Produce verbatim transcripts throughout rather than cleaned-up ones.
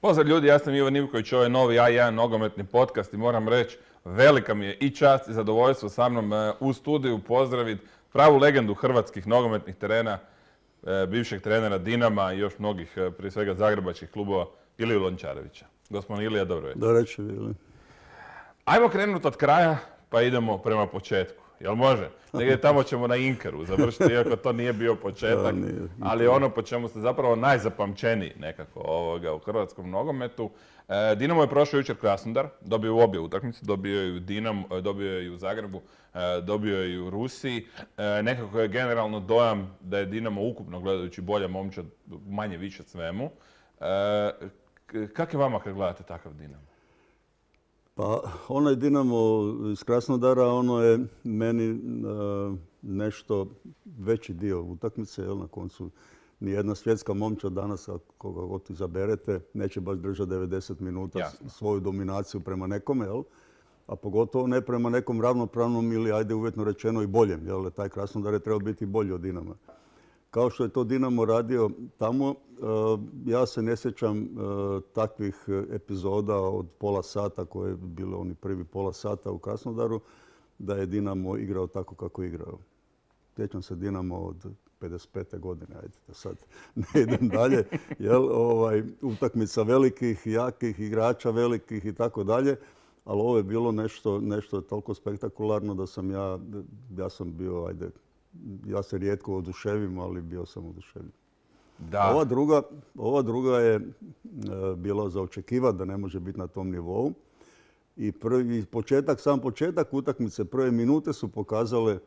Pozdrav ljudi, ja sam Ivan Ivković, ovo je novi A jedan nogometni podcast i moram reći, velika mi je i čast i zadovoljstvo sa mnom u studiju pozdraviti pravu legendu hrvatskih nogometnih terena, bivšeg trenera Dinama i još mnogih, prije svega zagrebačkih klubova, Iliju Lončarevića. Gospodin Ilija, dobro večer. Dobro večer, Ili. Ajmo krenuti od kraja, pa idemo prema početku. Jel može? Negdje tamo ćemo na Inkaru završiti, iako to nije bio početak, ali ono po čemu ste zapravo najzapamćeniji nekako ovoga u hrvatskom nogometu. E, Dinamo je prošao jučer Krasnodar, dobio u obje utakmice, dobio je i u Dinamo, dobio je i u Zagrebu, e, dobio je i u Rusiji. E, nekako je generalno dojam da je Dinamo ukupno gledajući bolja momčad, manje više svemu. E, kak je vama kad gledate takav Dinamo? Pa onaj Dinamo iz Krasnodara, ono je meni uh, nešto veći dio utakmice, jel, na koncu nijedna svjetska momčad danas, koga god izaberete, neće baš držati devedeset minuta Jasno. svoju dominaciju prema nekome, jel? A pogotovo ne prema nekom ravnopravnom ili, ajde uvjetno rečeno, i boljem, jel? Taj Krasnodar je trebao biti bolji od Dinama. Kao što je to Dinamo radio tamo, ja se ne sjećam takvih epizoda od pola sata koje je bilo oni prvi pola sata u Krasnodaru, da je Dinamo igrao tako kako je igrao. Sjećam se Dinamo od pedeset pete godine, ajde da sad ne idem dalje, jel, ovaj, utakmica velikih, jakih igrača, velikih i tako dalje, ali ovo je bilo nešto, nešto toliko spektakularno da sam ja, ja sam bio, ajde, ja se rijetko oduševim, ali bio sam oduševljen. Da. Ova druga, ova druga je e, bila za očekivati da ne može biti na tom nivou. I prvi početak, sam početak utakmice, prve minute su pokazale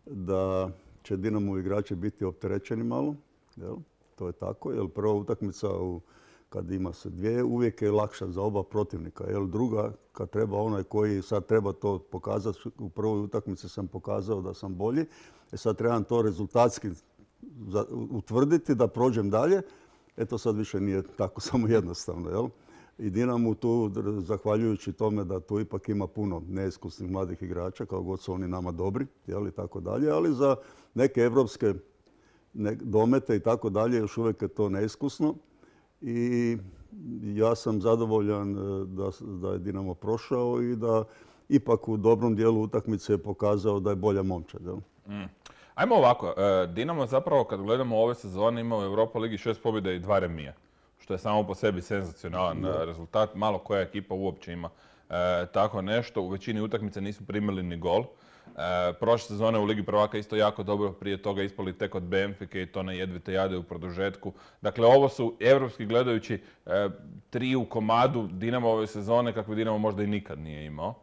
da će Dinamo igrači biti opterećeni malo. Jel? To je tako, jer prva utakmica u, kad ima se dvije, uvijek je lakša za oba protivnika. Jel? Druga, kad treba onaj koji sad treba to pokazati, u prvoj utakmici sam pokazao da sam bolji. E sad trebam to rezultatski utvrditi da prođem dalje. Eto sad više nije tako samo jednostavno. Jel? I Dinamo tu, zahvaljujući tome da tu ipak ima puno neiskusnih mladih igrača, kao god su oni nama dobri, jel, i tako dalje, ali za neke evropske domete i tako dalje još uvijek je to neiskusno. I ja sam zadovoljan da, da je Dinamo prošao i da ipak u dobrom dijelu utakmice je pokazao da je bolja momčad. Jel? Mm. Ajmo ovako, Dinamo zapravo kad gledamo ove sezone ima u Europa Ligi šest pobjeda i dva remija, što je samo po sebi senzacionalan da. rezultat. Malo koja ekipa uopće ima e, tako nešto. U većini utakmica nisu primili ni gol. E, prošle sezone u Ligi prvaka isto jako dobro, prije toga ispali tek od Benfike i to na jedvite jade u produžetku. Dakle, ovo su evropski gledajući e, tri u komadu Dinamo ove sezone kakve Dinamo možda i nikad nije imao.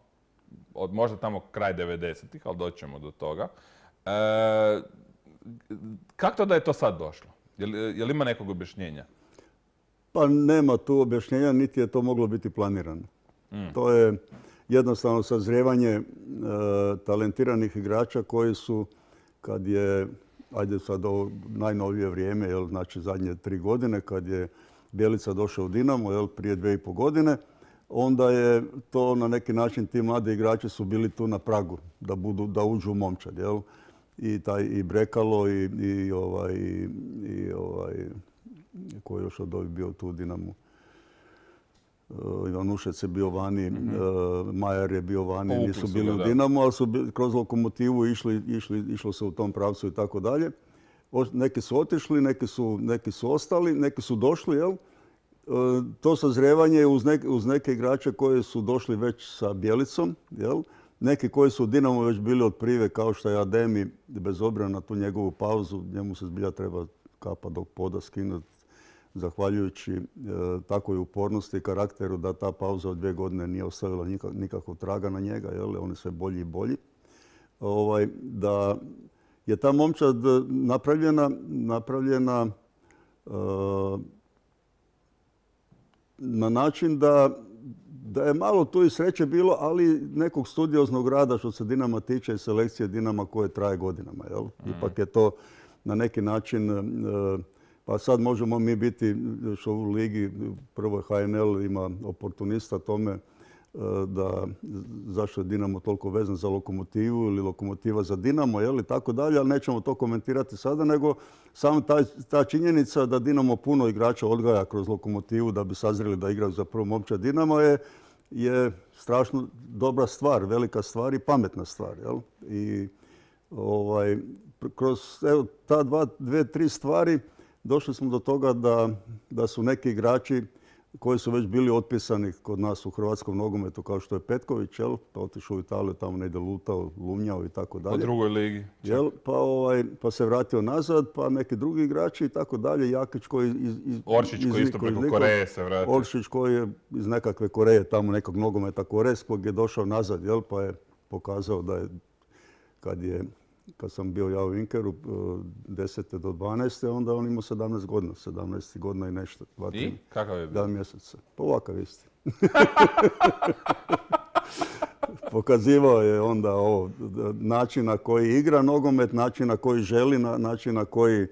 Od možda tamo kraj devedesetih, ali doćemo do toga. E, kako to da je to sad došlo? Je li, je li ima nekog objašnjenja? Pa nema tu objašnjenja, niti je to moglo biti planirano. Mm. To je jednostavno sazrijevanje e, talentiranih igrača koji su, kad je, ajde sad ovo najnovije vrijeme, jel, znači zadnje tri godine, kad je Bjelica došao u Dinamo, jel, prije dvije i po godine, onda je to na neki način, ti mladi igrači su bili tu na pragu da, budu, da uđu u momčad. Jel? I, taj, i Brekalo i, i, ovaj, i ovaj, koji je još od ovih bio tu u Dinamu. Uh, Ivan Ušec je bio vani, mm-hmm. uh, Majer je bio vani, Povukli nisu bili u Dinamu, ali su bili, kroz Lokomotivu išli, išli, išlo se u tom pravcu i tako dalje. Neki su otišli, neki su, neki su ostali, neki su došli, jel? Uh, to sazrijevanje uz, nek, uz neke igrače koji su došli već sa Bjelicom, jel? Neki koji su u Dinamu već bili od prive, kao što je Ademi, bez obzira na tu njegovu pauzu, njemu se zbilja treba kapa do poda skinuti, zahvaljujući e, takvoj upornosti i karakteru da ta pauza od dvije godine nije ostavila nikak, nikakvog traga na njega, jel? On je sve bolji i bolji. Ovaj, da je ta momčad napravljena, napravljena e, na način da Da je malo tu i sreće bilo, ali nekog studioznog rada što se Dinama tiče i selekcije Dinama koje traje godinama. Jel? Mm. Ipak je to na neki način, pa sad možemo mi biti što u ligi, prvo H N L ima oportunista tome, da zašto je Dinamo toliko vezan za Lokomotivu ili Lokomotiva za Dinamo, jel, i tako dalje, ali nećemo to komentirati sada, nego samo ta, ta činjenica da Dinamo puno igrača odgaja kroz Lokomotivu da bi sazreli da igraju za prvu momčad Dinama je, je strašno dobra stvar, velika stvar i pametna stvar. Jel? I ovaj, kroz evo, ta dva, dve, tri stvari došli smo do toga da, da su neki igrači koji su već bili otpisani kod nas u hrvatskom nogometu, kao što je Petković, jel? Pa otišao u Italiju, tamo negdje lutao, lumnjao i tako dalje. U drugoj ligi. Jel? Pa, ovaj, pa se vratio nazad, pa neki drugi igrači i tako dalje. Jakić koji iz, iz, Oršić koji isto preko Koreje se vratio. Oršić koji je iz nekakve Koreje, tamo nekog nogometa korejskog je došao nazad, jel? Pa je pokazao da je, kad je kad sam bio ja u Inkeru desete do dvanaeste, onda on imao sedamnaest godina, sedamnaest godina i nešto. Dva, I? Kakav je bio? Dva mjeseca. Pa ovakav isti. Pokazivao je onda ovo, način na koji igra nogomet, način na koji želi, način na koji e,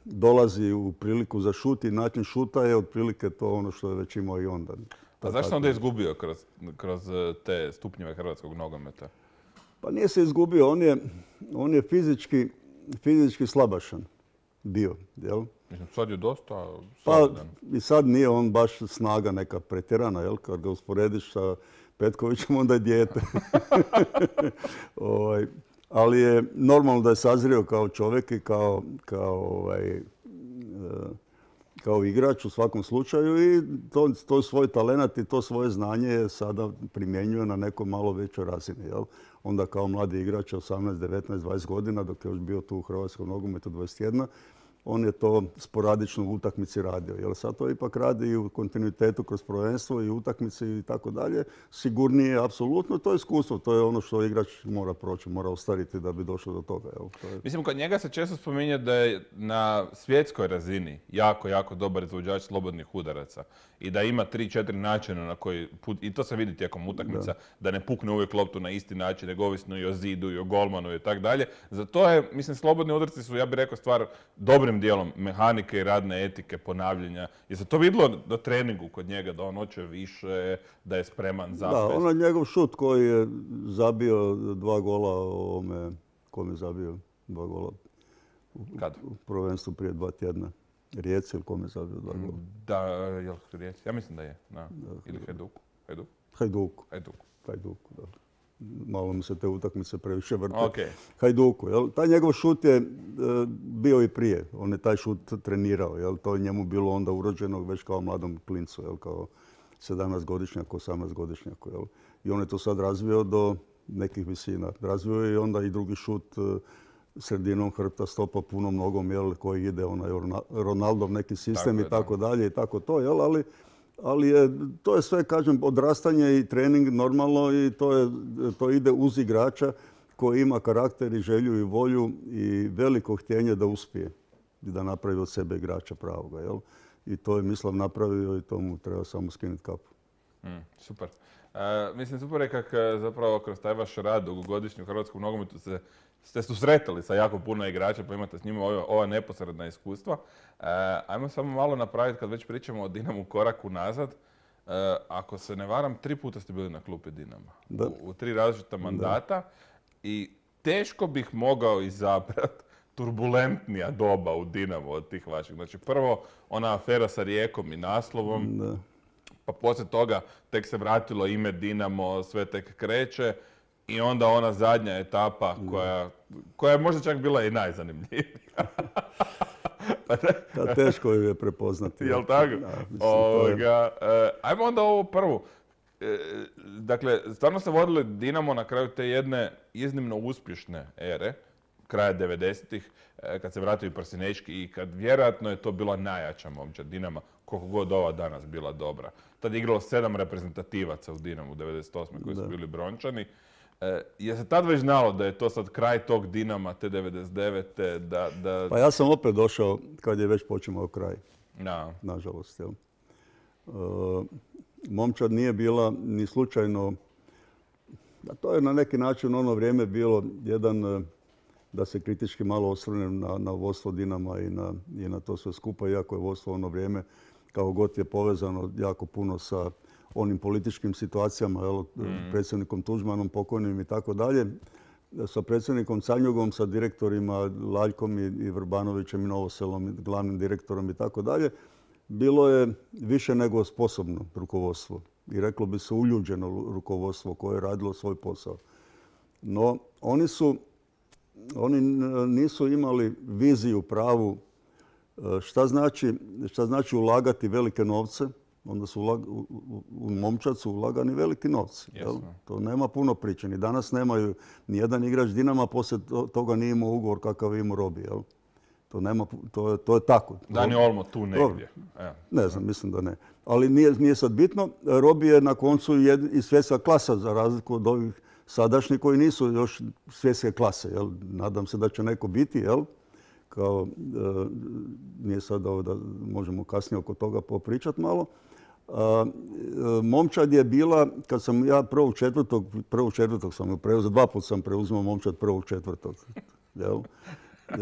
dolazi u priliku za šut i način šuta je otprilike to ono što je već imao i onda. A zašto onda je izgubio kroz, kroz te stupnjeve hrvatskog nogometa? Pa nije se izgubio, on je, on je fizički, fizički slabašan bio, jel? Mislim, sad je dosta solidan. Pa i sad nije on baš snaga neka pretjerana, jel? Kad ga usporediš sa Petkovićem, onda je dijete. ovaj, ali je normalno da je sazrio kao čovjek i kao, kao, ovaj, kao igrač u svakom slučaju i to, to svoj talent i to svoje znanje je sada primjenjuje na nekoj malo većoj razini, jel? Onda kao mladi igrač, osamnaest, devetnaest, dvadeset godina, dok je još bio tu u hrvatskom nogometu dvadeset jedan, on je to sporadično u utakmici radio. Jer sad to ipak radi i u kontinuitetu kroz prvenstvo i utakmice i tako dalje. Sigurnije, apsolutno, to je iskustvo. To je ono što igrač mora proći, mora ostariti da bi došao do toga. Jel? To je... Mislim, kod njega se često spominje da je na svjetskoj razini jako, jako dobar izvođač slobodnih udaraca. I da ima tri, četiri načina na koji, put, i to se vidi tijekom utakmica, da. da ne pukne uvijek loptu na isti način, nego ovisno i o zidu i o golmanu i tako dalje. Za to je, mislim, slobodni udarci su, ja bih rekao, stvar dobrim dijelom mehanike i radne etike, ponavljanja. Je se to vidjelo na treningu kod njega, da on hoće više, da je spreman za Da, sve? ono njegov šut koji je zabio dva gola ovome, kom je zabio dva gola Kad? u prvenstvu prije dva tjedna. Rijeci ili kom je zabio dva gola? Da, jel Rijeci? Ja mislim da je. Da. Ili Hajduku. Hajduku. Hajduku. Hajduku. Hajduku, da. Malo mi se te utakmice previše vrte. Okay. Hajduku, jel? Taj njegov šut je e, bio i prije. On je taj šut trenirao, jel? To je njemu bilo onda urođeno već kao mladom klincu, jel? Kao sedamnaestogodišnjaku, osamnaestogodišnjaku, jel? I on je to sad razvio do nekih visina. Razvio je i onda i drugi šut e, sredinom hrbta, stopa punom nogom, jel? Koji ide onaj Ronaldov neki sistem tako i tako da. dalje i tako to, jel? Ali Ali je, to je sve, kažem, odrastanje i trening normalno i to, je, to ide uz igrača koji ima karakter i želju i volju i veliko htjenje da uspije i da napravi od sebe igrača pravoga. Jel? I to je Mislav napravio i to mu treba samo skinuti kapu. Mm, super. E, mislim, super je kako zapravo kroz taj vaš rad dugogodišnji u hrvatskom nogometu se ste susretali sa jako puno igrača, pa imate s njima ova, ova neposredna iskustva. E, ajmo samo malo napraviti, kad već pričamo o Dinamu, koraku nazad. E, ako se ne varam, tri puta ste bili na klupi Dinama. Da. U, u tri različita mandata. Da. I teško bih mogao izabrati turbulentnija doba u Dinamu od tih vaših. Znači, prvo ona afera sa Rijekom i naslovom. Da. Pa poslije toga tek se vratilo ime Dinamo, sve tek kreće. I onda ona zadnja etapa koja, koja je možda čak bila i najzanimljivija. pa da, teško ju je prepoznati. Jel' tako? Da, mislim, Ovoga, je... ajmo onda ovo prvu. Dakle, stvarno ste vodili Dinamo na kraju te jedne iznimno uspješne ere, kraja devedesetih, kad se vratio i Prsinečki i kad vjerojatno je to bila najjača momčad Dinama, koliko god ova danas bila dobra. Tad je igralo sedam reprezentativaca u Dinamu devedeset osme koji su bili brončani. E, je se tad već znalo da je to sad kraj tog Dinama te devedeset devete? Da, da... Pa ja sam opet došao kad je već počimao kraj. No. Nažalost. Jel? E, momčad nije bila ni slučajno, a to je na neki način ono vrijeme bilo jedan, da se kritički malo osvrnem na, na vodstvo Dinama i na, i na to sve skupa, iako je vodstvo ono vrijeme kao god je povezano jako puno sa onim političkim situacijama, jel, mm. predsjednikom Tuđmanom, pokojnim i tako dalje, sa predsjednikom Canjugom, sa direktorima Laljkom i, i Vrbanovićem i Novoselom, i glavnim direktorom i tako dalje, bilo je više nego sposobno rukovodstvo. I reklo bi se uljuđeno rukovodstvo koje je radilo svoj posao. No, oni su, oni nisu imali viziju pravu šta znači, šta znači ulagati velike novce. Onda su ulag, u, u momčad su ulagani veliki novci. Jel? To nema puno priče. Ni danas nemaju ni jedan igrač Dinama, poslije toga nije imao ugovor kakav je imao Robi. Jel? To, nema, to, je, to je tako. Dani Olmo tu negdje. Evo. Ne znam, mislim da ne. Ali nije, nije sad bitno. Robi je na koncu i svjetska klasa, za razliku od ovih sadašnjih koji nisu još svjetske klase. Jel? Nadam se da će neko biti. Jel? Kao, e, nije sad ovo da možemo kasnije oko toga popričati malo. A, e, momčad je bila, kad sam ja prvog četvrtog, prvog četvrtog sam preuzeo, dva put sam preuzimao momčad prvog četvrtog. Jel? E,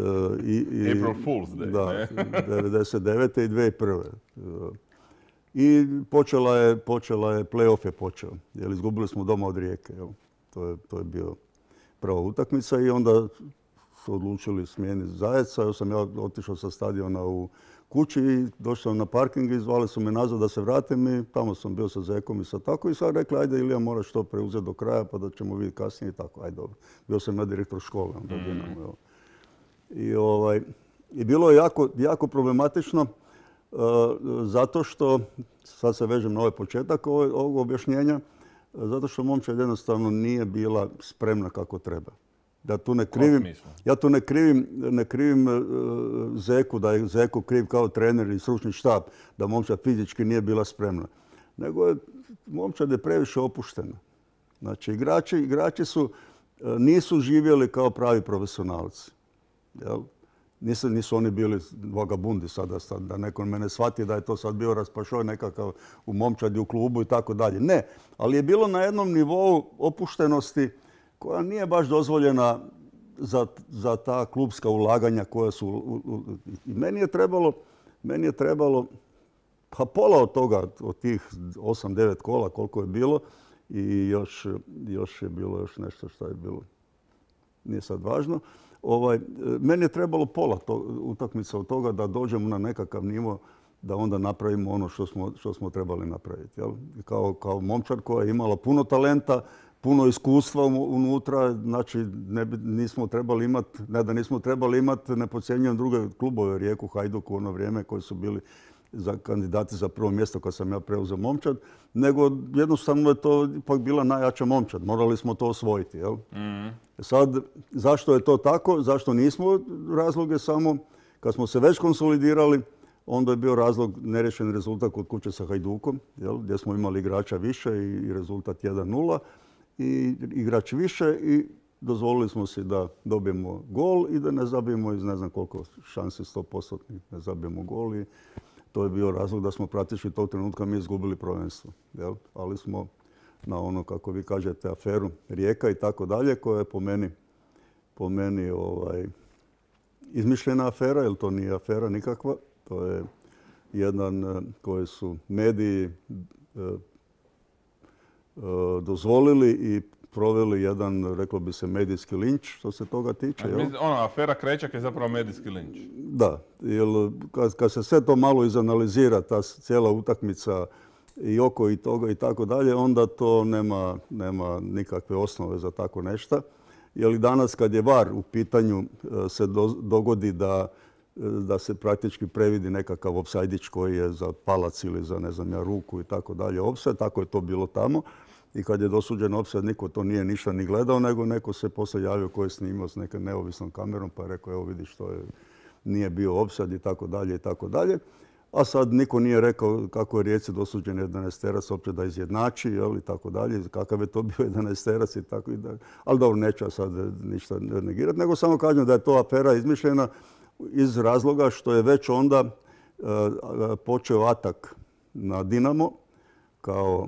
i, i, April Fool's Day. Da, devedeset devete i dvije tisuće prve. E, I počela je, počela je, play-off je počeo. Jer izgubili smo doma od Rijeke. Jel? To je, to je bio prva utakmica i onda su odlučili smijeniti Zajeca. Ja sam ja otišao sa stadiona u kući i došao sam na parking i zvali su me nazad da se vratim i tamo sam bio sa Zekom i sa tako i sad rekli ajde Ilija moraš to preuzeti do kraja pa da ćemo vidjeti kasnije i tako. Ajde dobro. Bio sam ja direktor škole. Onda mm. Dinamo, I, ovaj, I bilo je jako, jako problematično uh, zato što, sad se vežem na ovaj početak ovog, ovog objašnjenja, zato što momčad jednostavno nije bila spremna kako treba. Ja tu ne krivim, ja tu ne krivim, ne krivim uh, Zeku, da je Zeko kriv kao trener i stručni štab, da momčad fizički nije bila spremna. Nego je, momčad je previše opuštena. Znači, igrači, igrači su, uh, nisu živjeli kao pravi profesionalci. Jel? Nisu, nisu oni bili vagabundi sada, sad, da neko mene shvati da je to sad bio raspašoj nekakav u momčadi, u klubu i tako dalje. Ne, ali je bilo na jednom nivou opuštenosti koja nije baš dozvoljena za, za ta klubska ulaganja koja su... U, u, I meni je trebalo, meni je trebalo pa pola od toga, od tih osam devet kola koliko je bilo i još, još je bilo još nešto što je bilo. Nije sad važno. Ovaj, meni je trebalo pola to, utakmica od toga da dođemo na nekakav nivo da onda napravimo ono što smo, što smo trebali napraviti. Jel? Kao, kao momčad koja je imala puno talenta, puno iskustva unutra, znači ne bi, nismo trebali imati, ne da nismo trebali imati, ne podcjenjujem druge klubove, Rijeku, Hajduk u ono vrijeme koji su bili za kandidati za prvo mjesto kad sam ja preuzeo momčad, nego jednostavno je to ipak bila najjača momčad. Morali smo to osvojiti. Jel? Mm. Sad, zašto je to tako? Zašto nismo? Razlog je samo, kad smo se već konsolidirali, onda je bio razlog nerješen rezultat kod kuće sa Hajdukom, jel? Gdje smo imali igrača više i rezultat jedan nula. I igrač više i dozvolili smo si da dobijemo gol i da ne zabijemo iz ne znam koliko šansi sto posto ne zabijemo gol. I to je bio razlog da smo praktički tog trenutka mi izgubili prvenstvo. Jel? Ali smo na ono, kako vi kažete, aferu Rijeka i tako dalje, koja je po meni, po meni ovaj, izmišljena afera, jer to nije afera nikakva. To je jedan koji su mediji eh, dozvolili i proveli jedan, reklo bi se, medijski linč što se toga tiče. Jel? Ona afera Krećak je zapravo medijski linč. Da, jer kad, kad se sve to malo izanalizira, ta cijela utakmica i oko i toga i tako dalje, onda to nema, nema nikakve osnove za tako nešto. Jer danas kad je VAR u pitanju se do, dogodi da, da se praktički previdi nekakav opsajdić koji je za palac ili za ne znam ja ruku i tako dalje opsaj, tako je to bilo tamo. I kad je dosuđen opsad, niko to nije ništa ni gledao, nego neko se poslije javio koji je snimao s nekom neovisnom kamerom pa je rekao evo vidi što je, nije bio opsad i tako dalje i tako dalje. A sad niko nije rekao kako je Rijeci dosuđen jedanaesterac opće da izjednači, jel, i tako dalje, kakav je to bio jedanaesterac i tako i dalje. Ali dobro, neću sad ništa negirati, nego samo kažem da je to afera izmišljena iz razloga što je već onda uh, počeo atak na Dinamo kao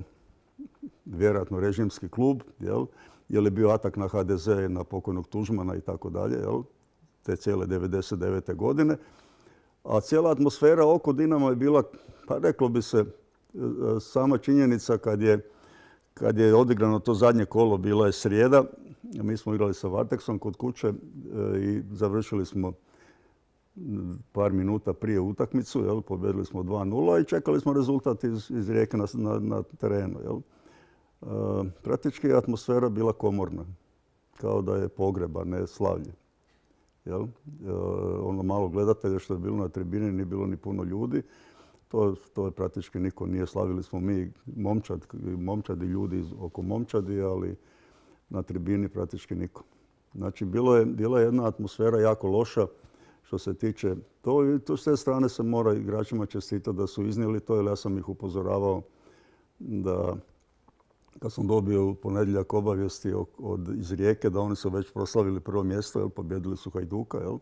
vjerojatno režimski klub, jel, jer je bio atak na ha de ze, na pokojnog Tuđmana i tako dalje, jel, te cijele devedeset devete godine. A cijela atmosfera oko Dinama je bila, pa reklo bi se, sama činjenica kad je, kad je odigrano to zadnje kolo, bila je srijeda, mi smo igrali sa Varteksom kod kuće i završili smo par minuta prije utakmicu, jel, pobjedili smo dva nula i čekali smo rezultat iz, iz Rijeke na, na, na terenu. Jel. E, praktički je atmosfera bila komorna, kao da je pogreba, ne slavlje. Jel? E, ono malo gledatelja što je bilo na tribini, nije bilo ni puno ljudi. To, to je praktički niko nije. Slavili smo mi momčad, momčadi, ljudi iz, oko momčadi, ali na tribini praktički niko. Znači, bilo je, bila je jedna atmosfera jako loša što se tiče to. I to s te strane se mora igračima čestitati da su iznijeli to, jer ja sam ih upozoravao da kad sam dobio u ponedjeljak obavijesti od, iz Rijeke da oni su već proslavili prvo mjesto, jel, pobjedili su Hajduka, jel?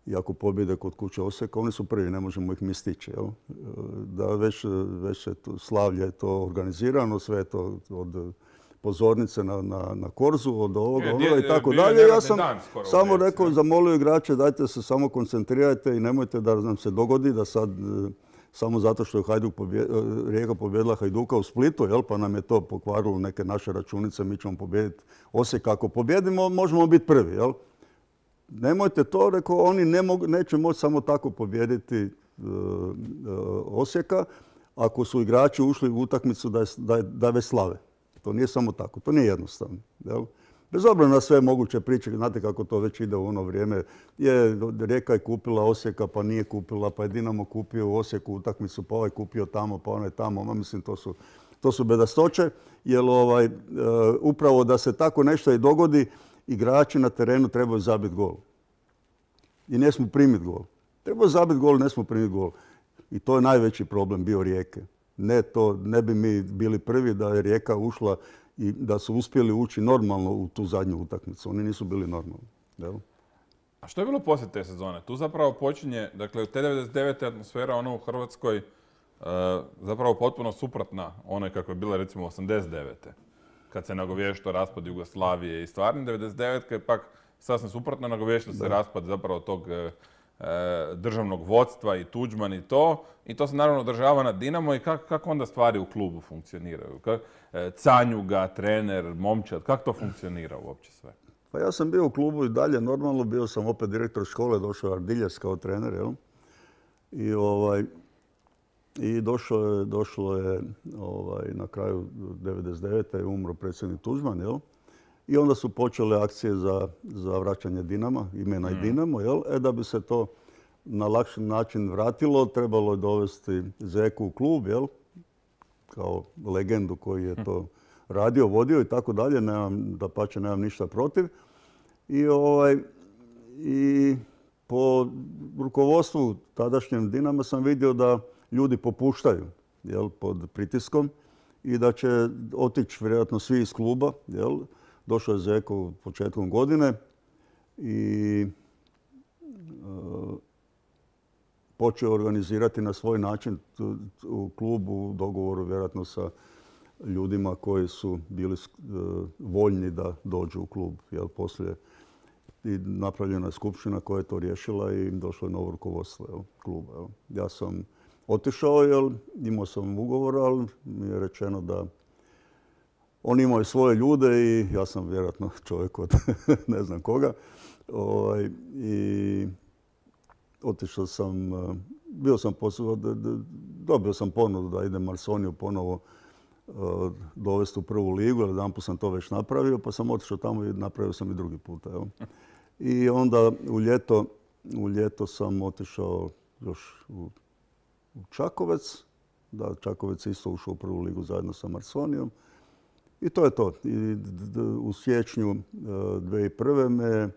I ako pobjede kod kuće Osijeka, oni su prvi, ne možemo ih mi stići. Jel? Da već, već je to, slavlje je to organizirano, sve je to od pozornice na, na, na korzu, od ovoga, onoga i tako dalje. Ja sam samo rekao, zamolio igrače, dajte se samo koncentrirajte i nemojte da nam se dogodi da sad samo zato što je Hajduk pobjed, Rijeka pobjedila Hajduka u Splitu, jel, pa nam je to pokvarilo neke naše računice, mi ćemo pobijediti Osijek. Ako pobjedimo, možemo biti prvi. Jel? Nemojte to, rekao, oni ne mogu, neće moći samo tako pobijediti uh, uh, Osijeka ako su igrači ušli u utakmicu da, da, da već slave. To nije samo tako, to nije jednostavno. Jel? Bez obzira na sve moguće priče, znate kako to već ide u ono vrijeme. Je, Rijeka je kupila Osijeka, pa nije kupila, pa je Dinamo kupio u Osijeku utakmicu, pa ovaj kupio tamo, pa onaj tamo. Ma, mislim, to su, to su bedastoće, jer ovaj, uh, upravo da se tako nešto i dogodi, igrači na terenu trebaju zabiti gol. I ne smo primiti gol. Trebaju zabiti gol, ne smo primiti gol. I to je najveći problem bio Rijeke. Ne, to, ne bi mi bili prvi da je Rijeka ušla i da su uspjeli ući normalno u tu zadnju utakmicu. Oni nisu bili normalni. Jel? A što je bilo poslije te sezone? Tu zapravo počinje, dakle, te devedeset devete atmosfera ono u Hrvatskoj uh, zapravo potpuno suprotna onoj kako je bila recimo osamdeset devete kad se nagovještao raspad Jugoslavije i stvarni devedeset devete je pak sasvim suprotno nagovještao se raspad zapravo tog e, državnog vodstva i Tuđman i to. I to se naravno održava na Dinamo i kako, kako onda stvari u klubu funkcioniraju? Kak, e, Canjuga, trener, momčad, kako to funkcionira uopće sve? Pa ja sam bio u klubu i dalje normalno, bio sam opet direktor škole, došao je Ardiljes kao trener, jel? I ovaj... I došlo je, došlo je ovaj, na kraju devedeset devete je umro predsjednik Tuđman, jel? I onda su počele akcije za, za vraćanje Dinama, imena mm. i Dinamo, jel? E da bi se to na lakši način vratilo, trebalo je dovesti Zeku u klub, jel? Kao legendu koji je to radio, vodio i tako dalje, nemam, dapače, nemam ništa protiv. I, ovaj, i po rukovodstvu tadašnjem Dinama sam vidio da ljudi popuštaju, jel, pod pritiskom i da će otići vjerojatno svi iz kluba. Jel. Došao je Zeko početkom godine i uh, počeo organizirati na svoj način u klubu u dogovoru vjerojatno sa ljudima koji su bili uh, voljni da dođu u klub. Jel, poslije i napravljena je skupština koja je to riješila i došlo je novo rukovodstvo, jel, kluba. Jel. Ja sam otišao, jer imao sam ugovor, ali mi je rečeno da oni imaju svoje ljude i ja sam vjerojatno čovjek od ne znam koga. Ovaj, I otišao sam, bio sam posao, dobio sam ponudu da idem Marsoniju ponovo dovesti u prvu ligu, jer jedanput sam to već napravio, pa sam otišao tamo i napravio sam i drugi puta. Jel? I onda u ljeto, u ljeto sam otišao još u u Čakovec, da Čakovec je isto ušao u prvu ligu zajedno sa Marsonijom. I to je to. I u siječnju dvije tisuće prve me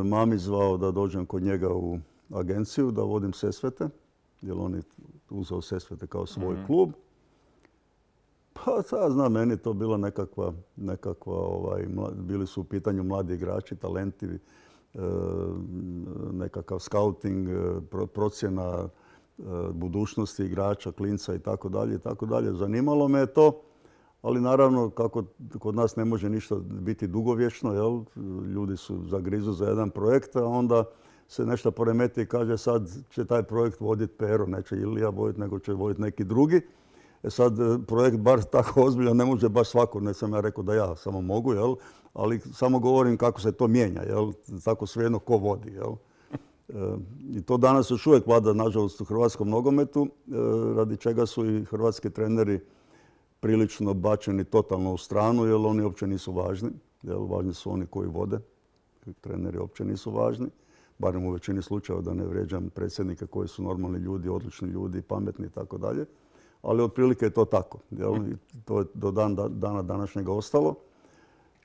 mami zvao da dođem kod njega u agenciju, da vodim Sesvete, jer on je uzeo Sesvete kao svoj mm-hmm. klub. Pa ta, znam, meni to bila nekakva, nekakva ovaj, bili su u pitanju mladi igrači, talenti, nekakav scouting, procjena budućnosti igrača, klinca i tako dalje i tako dalje. Zanimalo me je to, ali naravno kako kod nas ne može ništa biti dugovječno, jel? Ljudi su zagrizu za jedan projekt, a onda se nešto poremeti i kaže sad će taj projekt voditi Pero, neće Ilija voditi, nego će voditi neki drugi. E sad, projekt bar tako ozbiljan ne može baš svako, ne sam ja rekao da ja samo mogu, jel? Ali samo govorim kako se to mijenja, jel? Tako svejedno ko vodi, jel? E, I to danas još uvijek vlada, nažalost, u hrvatskom nogometu, e, radi čega su i hrvatski treneri prilično bačeni totalno u stranu, jer oni uopće nisu važni. Jel? Važni su oni koji vode, treneri uopće nisu važni. Barem u većini slučajeva, da ne vrijeđam predsjednike koji su normalni ljudi, odlični ljudi, pametni i tako dalje. Ali otprilike je to tako. Jel? I to je do dan, dana današnjega ostalo.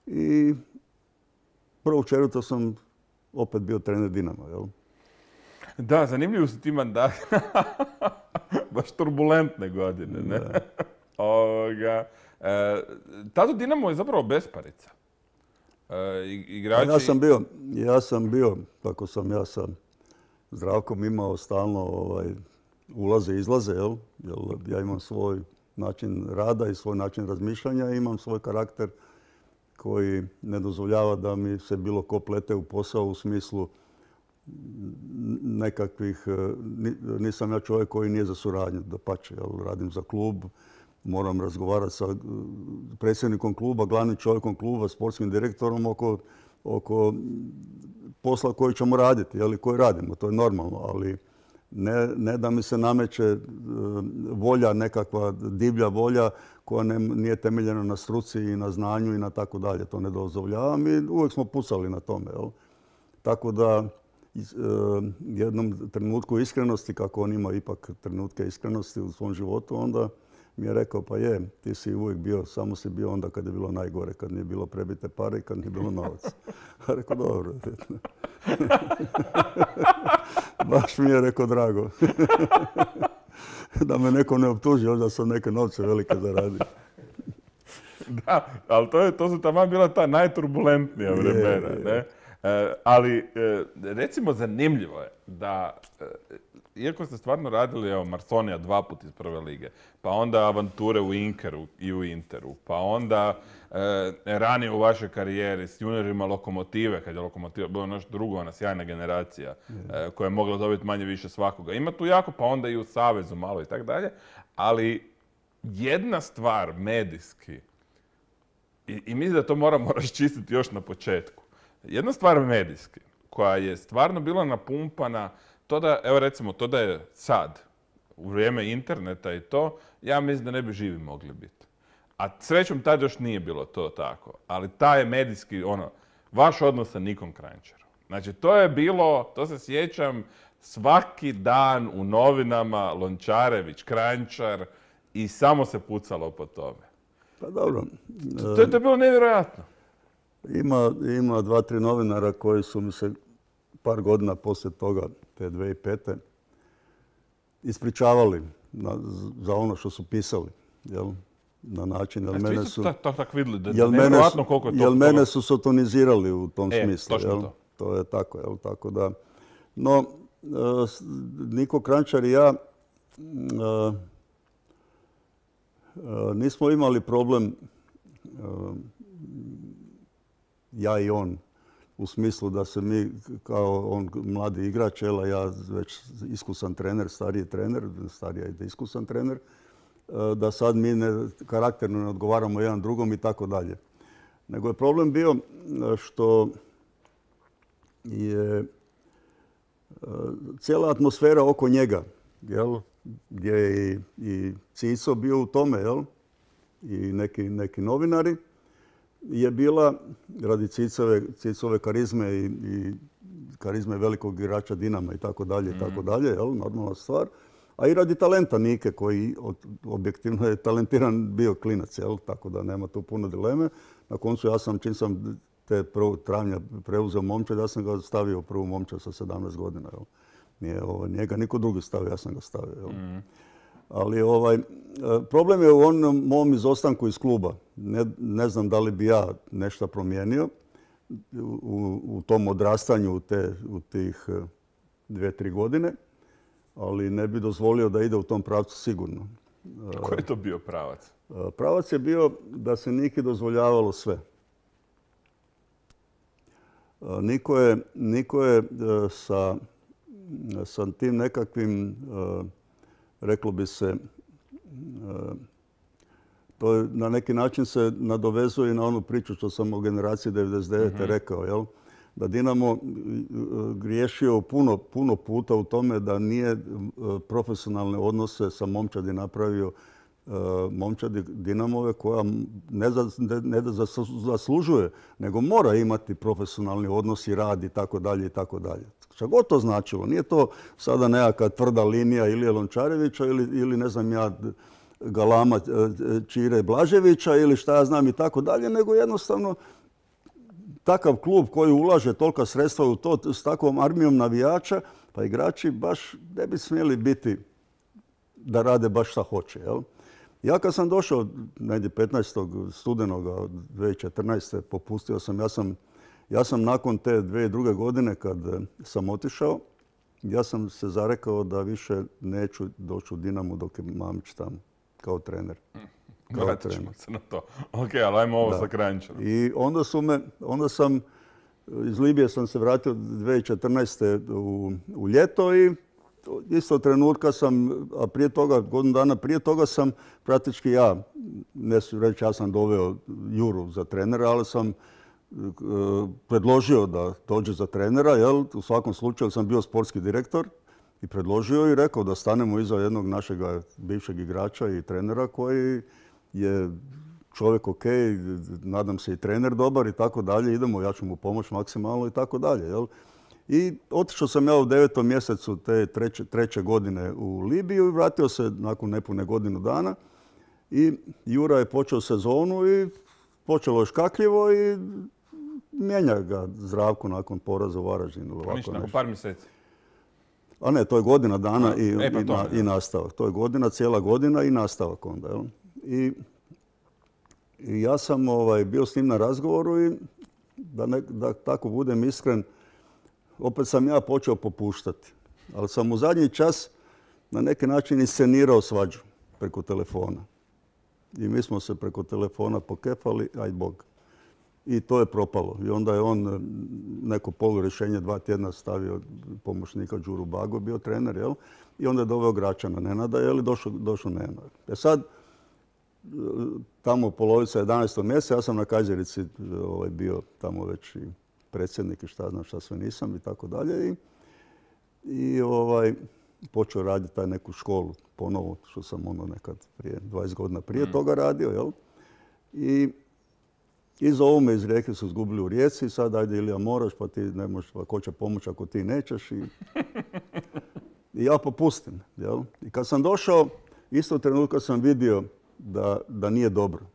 I prvog četvrtog sam opet bio trener Dinama. Jel? Da, zanimljivo su ti mandati. Baš turbulentne godine, ne? Ovoga, e, tada Dinamo je zapravo besparica. E, igrači... Ja sam bio, ja sam bio, tako sam ja sa Zdravkom imao stalno ovaj, ulaze i izlaze, jel? Jer ja imam svoj način rada i svoj način razmišljanja i imam svoj karakter koji ne dozvoljava da mi se bilo ko plete u posao u smislu nekakvih, nisam ja čovjek koji nije za suradnju, dapače, jel? Radim za klub, moram razgovarati sa predsjednikom kluba, glavnim čovjekom kluba, sportskim direktorom oko, oko posla koji ćemo raditi, jel, koji radimo. To je normalno, ali ne, ne da mi se nameće volja, nekakva divlja volja koja ne, nije temeljena na struci i na znanju i na tako dalje. To ne dozvoljavam i uvijek smo pucali na tome. Jel. Tako da jednom trenutku iskrenosti, kako on ima ipak trenutke iskrenosti u svom životu, onda mi je rekao, pa je, ti si uvijek bio, samo si bio onda kad je bilo najgore, kad nije bilo prebite pare i kad nije bilo novaca. A rekao, dobro. Baš mi je rekao, drago. Da me neko ne optuži, onda sam neke novce velike zaradio. Da, ali to, je, to su tamo bila ta najturbulentnija vremena, je, je. Ne? E, ali, e, recimo, zanimljivo je da... E, iako ste stvarno radili, evo, Marsonija dva put iz prve lige, pa onda avanture u Inkeru i u Interu, pa onda e, ranije u vašoj karijeri s juniorima Lokomotive, kad je Lokomotiva bila nešto drugo, ona sjajna generacija e, koja je mogla dobiti manje više svakoga. Ima tu jako, pa onda i u Savezu malo i tako dalje, ali jedna stvar medijski, i, i mislim da to moramo raščistiti još na početku, jedna stvar medijski koja je stvarno bila napumpana. To da, evo recimo, to da je sad, u vrijeme interneta i to, ja mislim da ne bi živi mogli biti. A srećom tad još nije bilo to tako. Ali taj je medijski, ono, vaš odnos sa Nikom Kranjčarom. Znači, to je bilo, to se sjećam, svaki dan u novinama Lončarević, Kranjčar i samo se pucalo po tome. Pa dobro. To, to je to bilo nevjerojatno. Ima, ima dva, tri novinara koji su mi se par godina poslije toga, te dvije tisuće pete. ispričavali na, za ono što su pisali. Jel? Na način, jel mene su... Tak, tak, tak vidjeli, da jel mene su, koliko je to, jel mene su sotonizirali u tom e, smislu. Jel? To. to je tako, jel? Tako da... No, Niko Kranjčar i ja nismo imali problem, ja i on, u smislu da se mi, kao on mladi igrač, a ja već iskusan trener, stariji trener, stariji i iskusan trener, da sad mi ne, karakterno ne odgovaramo jedan drugom i tako dalje. Nego je problem bio što je cijela atmosfera oko njega, jel, gdje je i, i Cico bio u tome, jel, i neki, neki novinari, je bila radi Cicove, Cicove karizme i, i karizme velikog igrača Dinama i tako dalje i tako dalje, jel, normalna stvar. A i radi talenta Nike koji objektivno je talentiran bio klinac, jel, tako da nema tu puno dileme. Na koncu ja sam, čim sam te prvog travnja preuzeo momčad, ja sam ga stavio u prvu momčad sa sedamnaest godina, jel. Nije ovo, njega niko drugi stavio, ja sam ga stavio, jel. Mm. Ali ovaj, problem je u onom mom izostanku iz kluba. Ne, ne znam da li bi ja nešto promijenio u, u tom odrastanju u, te, u tih dvije, tri godine, ali ne bi dozvolio da ide u tom pravcu sigurno. Koji je to bio pravac? Pravac je bio da se Niki dozvoljavalo sve. Niko je, niko je sa, sa tim nekakvim, reklo bi se, to je, na neki način se nadovezuje na onu priču što sam o generaciji devedeset devete Mm-hmm. rekao, jel? Da Dinamo griješio puno, puno puta u tome da nije profesionalne odnose sa momčadi napravio momčadi Dinamove koja ne, za, ne da zaslužuje, nego mora imati profesionalni odnos i rad i tako dalje i tako dalje. Šta god to značilo. Nije to sada nekakva tvrda linija Ilije Lončarevića ili, ili ne znam ja galama Čire Blaževića ili šta ja znam i tako dalje, nego jednostavno takav klub koji ulaže tolika sredstva u to s takvom armijom navijača, pa igrači baš ne bi smjeli biti da rade baš šta hoće. Jel? Ja kad sam došao negdje petnaestog studenoga dvije tisuće četrnaeste. popustio sam, ja sam, ja sam nakon te dvije druge godine kad sam otišao, ja sam se zarekao da više neću doći u Dinamo dok je Mamić tamo kao trener. Vratit ćemo se na to. Ok, ali ajmo ovo sa Kranjčanom. I onda su me, onda sam, iz Libije sam se vratio dvije tisuće četrnaeste. u, u ljeto i isto trenutka sam, a prije toga, godinu dana prije toga sam praktički ja, ne su reći ja sam doveo Juru za trenera, ali sam uh, predložio da dođe za trenera, jel? U svakom slučaju sam bio sportski direktor i predložio i rekao da stanemo iza jednog našeg bivšeg igrača i trenera koji je čovjek ok, nadam se i trener dobar i tako dalje, idemo, ja ću mu pomoći maksimalno i tako dalje. Jel? I otišao sam ja u devetom mjesecu te treće, treće godine u Libiju i vratio se nakon nepune godinu dana. I Jura je počeo sezonu i počelo je škakljivo i mijenja ga Zdravko nakon poraza u Varaždinu. Ništa, nakon par mjeseci. A ne, to je godina dana i, e, pa i, na, i nastavak. To je godina, cijela godina i nastavak onda. Jel? I, i ja sam ovaj, bio s njim na razgovoru i da, ne, da tako budem iskren, opet sam ja počeo popuštati. Ali sam u zadnji čas na neki način iscenirao svađu preko telefona. I mi smo se preko telefona pokefali, aj Bog. I to je propalo. I onda je on neko polurješenje dva tjedna stavio pomoćnika Đuru Bago, bio trener, jel? I onda je doveo Gračana Nenada, jel? I došao, došao Nenad. E sad, tamo polovica jedanaestog mjeseca, ja sam na Kajzerici ovaj, bio tamo već i predsjednik i šta znam šta sve nisam i tako dalje. I, i ovaj, počeo raditi taj neku školu ponovo, što sam ono nekad prije dvadeset godina prije mm. toga radio, jel? I iz ovome iz Rijeke su izgubili u Rijeci, sad ajde Ilija moraš, pa ti ne možeš, pa ko će pomoći ako ti nećeš. I, i ja popustim, jel? I kad sam došao, isto trenutka sam vidio da, da nije dobro.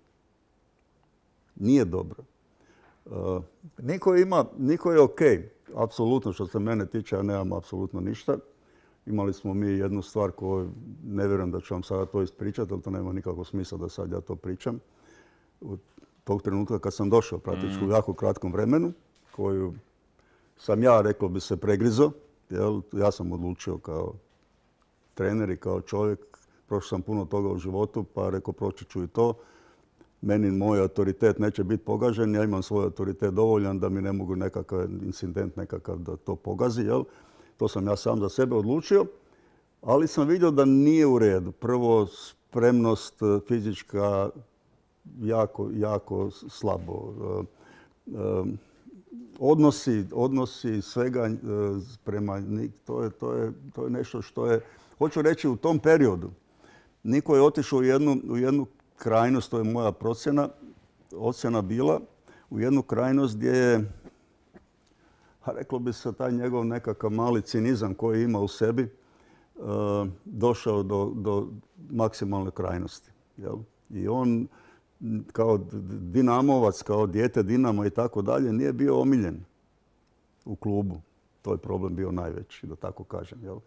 Nije dobro. Uh, niko ima, niko je ok, apsolutno što se mene tiče, ja nemam apsolutno ništa. Imali smo mi jednu stvar koju ne vjerujem da ću vam sada to ispričati, ali to nema nikakvog smisla da sad ja to pričam. U tog trenutka kad sam došao praktički u jako kratkom vremenu, koju sam ja, reklo bi se, pregrizo. Jel? Ja sam odlučio kao trener i kao čovjek, prošao sam puno toga u životu, pa rekao proći ću i to. Meni moj autoritet neće biti pogažen, ja imam svoj autoritet dovoljan da mi ne mogu nekakav incident nekakav da to pogazi. Jel? To sam ja sam za sebe odlučio, ali sam vidio da nije u redu. Prvo, spremnost fizička jako, jako slabo. Odnosi, odnosi svega prema njih, to je, to je, to je nešto što je, hoću reći u tom periodu, niko je otišao u jednu, u jednu krajnost, to je moja procjena, ocjena bila, u jednu krajnost gdje je, a reklo bi se, taj njegov nekakav mali cinizam koji ima u sebi, uh, došao do, do maksimalne krajnosti. Jel? I on kao dinamovac, kao dijete Dinama i tako dalje, nije bio omiljen u klubu. To je problem bio najveći, da tako kažem. Jel?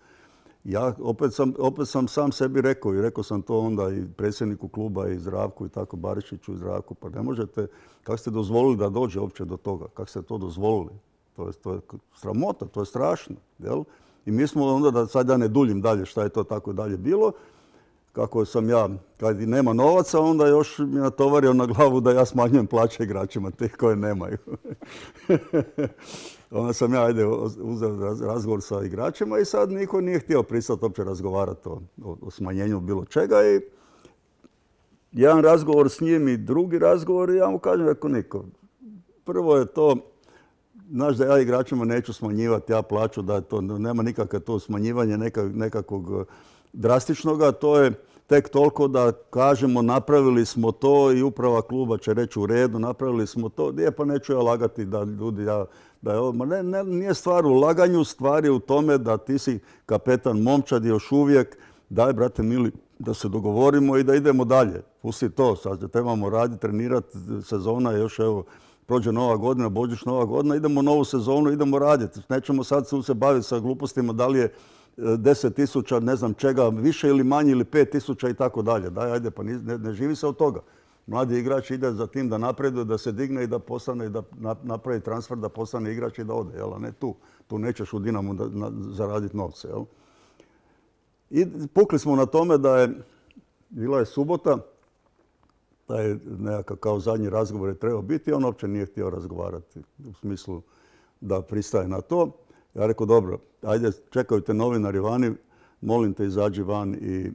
Ja opet sam, opet sam sam sebi rekao i rekao sam to onda i predsjedniku kluba i Zdravku i tako, Barišiću i Zdravku, pa ne možete, kako ste dozvolili da dođe uopće do toga, kako ste to dozvolili? To je, to je sramota, to je strašno. Jel? I mi smo onda, da sad ja ne duljim dalje šta je to tako dalje bilo, kako sam ja, kad i nema novaca, onda još mi natovario na glavu da ja smanjujem plaće igračima, tih koje nemaju. Onda sam ja ajde, uzeo razgovor sa igračima i sad niko nije htio pristati uopće razgovarati o, o, o smanjenju bilo čega. I jedan razgovor s njim i drugi razgovor i ja mu kažem, rekao niko. Prvo je to, znaš da ja igračima neću smanjivati ja plaću, da to nema nikakve to smanjivanje nekak, nekakvog drastičnoga, to je tek toliko da kažemo napravili smo to i uprava kluba će reći u redu, napravili smo to. Nije, pa neću ja lagati da ljudi, ja, da je ovo, ma ne, ne, nije stvar u laganju, stvar je u tome da ti si kapetan momčad još uvijek, daj brate mili da se dogovorimo i da idemo dalje. Pusti to, sad trebamo raditi, trenirati, sezona je još evo, prođe nova godina, Božić nova godina, idemo novu sezonu, idemo raditi. Nećemo sad se baviti sa glupostima da li je deset tisuća, ne znam čega, više ili manje ili pet tisuća i tako dalje. Daj, ajde, pa ne, ne živi se od toga. Mladi igrač ide za tim da napreduje, da se digne i da postane, da napravi transfer, da postane igrač i da ode, jel? A ne tu. Tu nećeš u Dinamu da, na, zaraditi novce, jel? I pukli smo na tome da je, bila je subota, da je nekakav kao zadnji razgovor je trebao biti, on uopće nije htio razgovarati u smislu da pristaje na to. Ja rekao, dobro, ajde, čekaju te novinari vani, molim te izađi van i,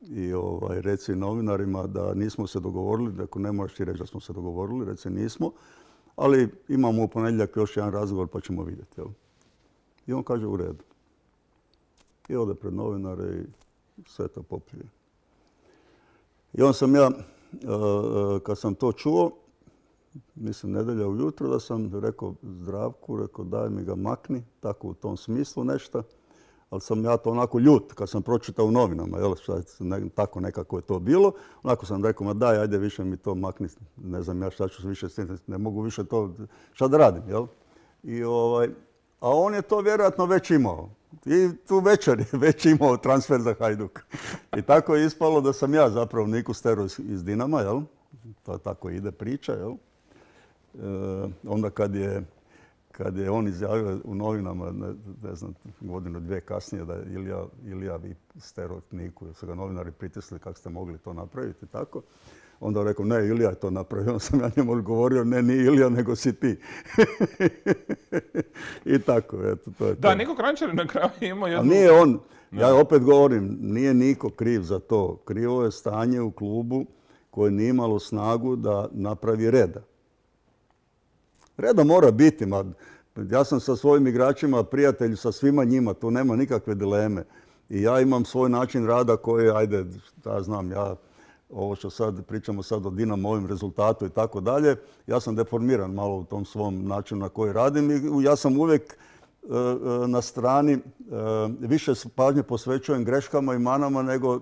i ovaj, reci novinarima da nismo se dogovorili, dakle ne moraš ti reći da smo se dogovorili, reci nismo, ali imamo u ponedjeljak još jedan razgovor pa ćemo vidjeti. Jel? I on kaže u redu. I ode pred novinare i sve to popije. I on sam ja, kad sam to čuo, mislim, nedjelja ujutro, da sam rekao Zdravku, rekao daj mi ga makni, tako u tom smislu nešto. Ali sam ja to onako ljut, kad sam pročitao u novinama, jel, ne, tako nekako je to bilo. Onako sam rekao, ma daj, ajde više mi to makni, ne znam ja šta ću više s tim, ne mogu više to, šta da radim, jel? I ovaj, a on je to vjerojatno već imao. I tu večer je već imao transfer za Hajduk. I tako je ispalo da sam ja zapravo Niku stero iz, iz Dinama, jel? To tako ide priča, jel? E, onda kad je, kad je on izjavio u novinama, ne, ne znam, godinu dvije kasnije da je Ilija, Ilija vi stero Niku, su ga novinari pritisli kako ste mogli to napraviti, tako. Onda je rekao, ne, Ilija je to napravio. Onda sam ja njemu odgovorio, ne, nije Ilija, nego si ti. I tako, eto, to je to. Da, Niko Kranjčar na kraju imao jednu... A nije on, ja opet govorim, nije niko kriv za to. Krivo je stanje u klubu koje nije imalo snagu da napravi reda. Reda mora biti, ma, ja sam sa svojim igračima prijatelj, sa svima njima, tu nema nikakve dileme. I ja imam svoj način rada koji, ajde, ja znam, ja ovo što sad pričamo sad o Dinamo, ovim rezultatu i tako dalje, ja sam deformiran malo u tom svom načinu na koji radim i ja sam uvijek na strani, više pažnje posvećujem greškama i manama nego,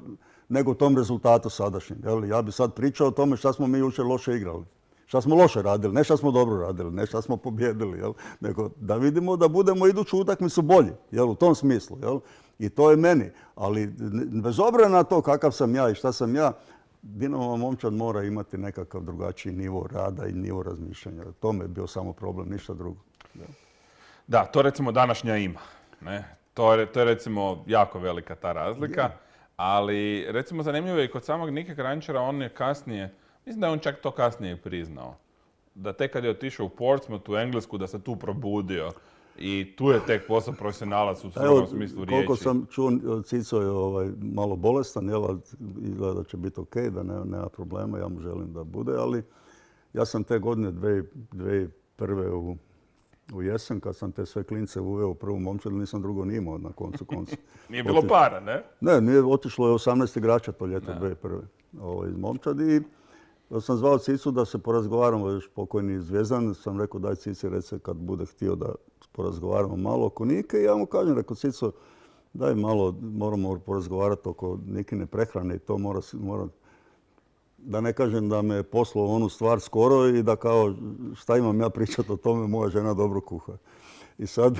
nego tom rezultatu sadašnjem. Jel? Ja bi sad pričao o tome šta smo mi jučer loše igrali. Šta smo loše radili, ne šta smo dobro radili, ne šta smo pobjedili, jel? Nego da vidimo da budemo iduću utakmicu bolji, jel? U tom smislu. Jel? I to je meni. Ali bez obzira na to kakav sam ja i šta sam ja, Dinamo momčad mora imati nekakav drugačiji nivo rada i nivo razmišljanja. To me je bio samo problem, ništa drugo. Da, da to recimo današnja ima. Ne? To, je, to je recimo jako velika ta razlika. Je. Ali recimo zanimljivo je i kod samog Nike Kranjčara, on je kasnije, mislim da je on čak to kasnije priznao. Da tek kad je otišao u Portsmouth, u Englesku, da se tu probudio. I tu je tek postao profesionalac u svom smislu riječi. Koliko sam čuo, Cico je ovaj, malo bolestan, jel, izgleda da će biti ok, da ne, nema problema, ja mu želim da bude, ali ja sam te godine dvije tisuće prve u, u jesen, kad sam te sve klince uveo u prvu momčad, nisam drugo ni imao na koncu konca. Nije bilo para, ne? Ne, nije, otišlo je osamnaest igrača to ljeto dvije tisuće prve ovaj, iz momčadi. I sam zvao Cicu da se porazgovaramo, još pokojni Zvijezdan, sam rekao daj Cici reci kad bude htio da porazgovaramo malo oko Nike i ja mu kažem, rekao Cico, daj malo, moramo porazgovarati oko Nikine prehrane i to mora, mora, da ne kažem da me poslao onu stvar skoro i da kao šta imam ja pričati o tome, moja žena dobro kuha. I sad,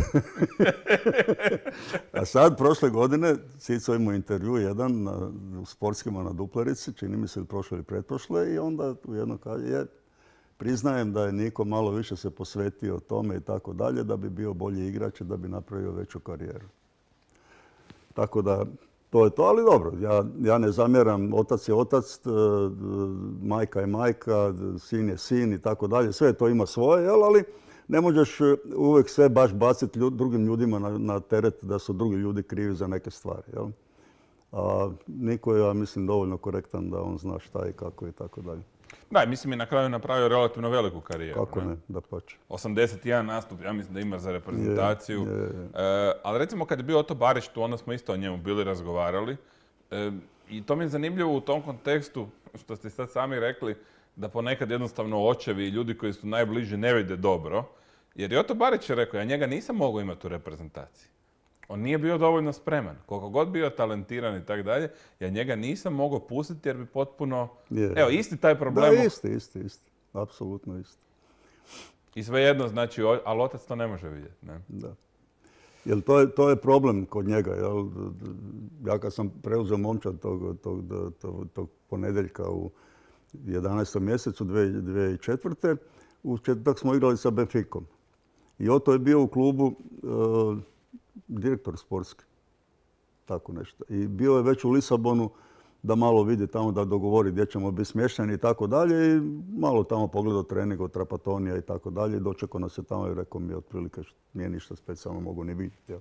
a sad prošle godine Cico imao intervju jedan na, u Sportskima na Duplerici, čini mi se prošle ili pretprošle i onda u jedno kaže, je, priznajem da je Niko malo više se posvetio tome i tako dalje, da bi bio bolji igrač i da bi napravio veću karijeru. Tako da, to je to, ali dobro, ja, ja ne zamjeram, otac je otac, majka je majka, sin je sin i tako dalje, sve to ima svoje, jel, ali ne možeš uvijek sve baš baciti ljud, drugim ljudima na, na teret da su drugi ljudi krivi za neke stvari. Jel? A niko je, ja mislim, dovoljno korektan da on zna šta i kako i tako dalje. Da, mislim je na kraju napravio relativno veliku karijeru. Kako ne, da pače. osamdeset jedan nastup, ja mislim da ima za reprezentaciju. Je, je, je. E, ali recimo kad je bio Oto Barić tu, onda smo isto o njemu bili razgovarali. E, I to mi je zanimljivo u tom kontekstu, što ste sad sami rekli, da ponekad jednostavno očevi i ljudi koji su najbliži ne vide dobro. Jer je Oto Barić je rekao, ja njega nisam mogao imati u reprezentaciji. On nije bio dovoljno spreman. Koliko god bio talentiran i tako dalje, ja njega nisam mogao pustiti jer bi potpuno... Je. Evo, isti taj problem. Da, isti, isti, isti. Apsolutno isti. I svejedno, znači, ali otac to ne može vidjeti. Ne? Da. Jer to je, to je problem kod njega. Jel? Ja kad sam preuzeo momčad tog, tog, tog, tog ponedjeljka u jedanaestom mjesecu dvije tisuće četvrte. U četvrtak smo igrali sa Benficom. I Oto je bio u klubu e, direktor sportski. Tako nešto. I bio je već u Lisabonu da malo vidi tamo, da dogovori gdje ćemo biti smješteni i tako dalje. I malo tamo pogledao trening od Trapatonija i tako dalje. I dočekao nas je tamo i rekao mi otprilike nije ništa specijalno mogu ni vidjeti. Jel?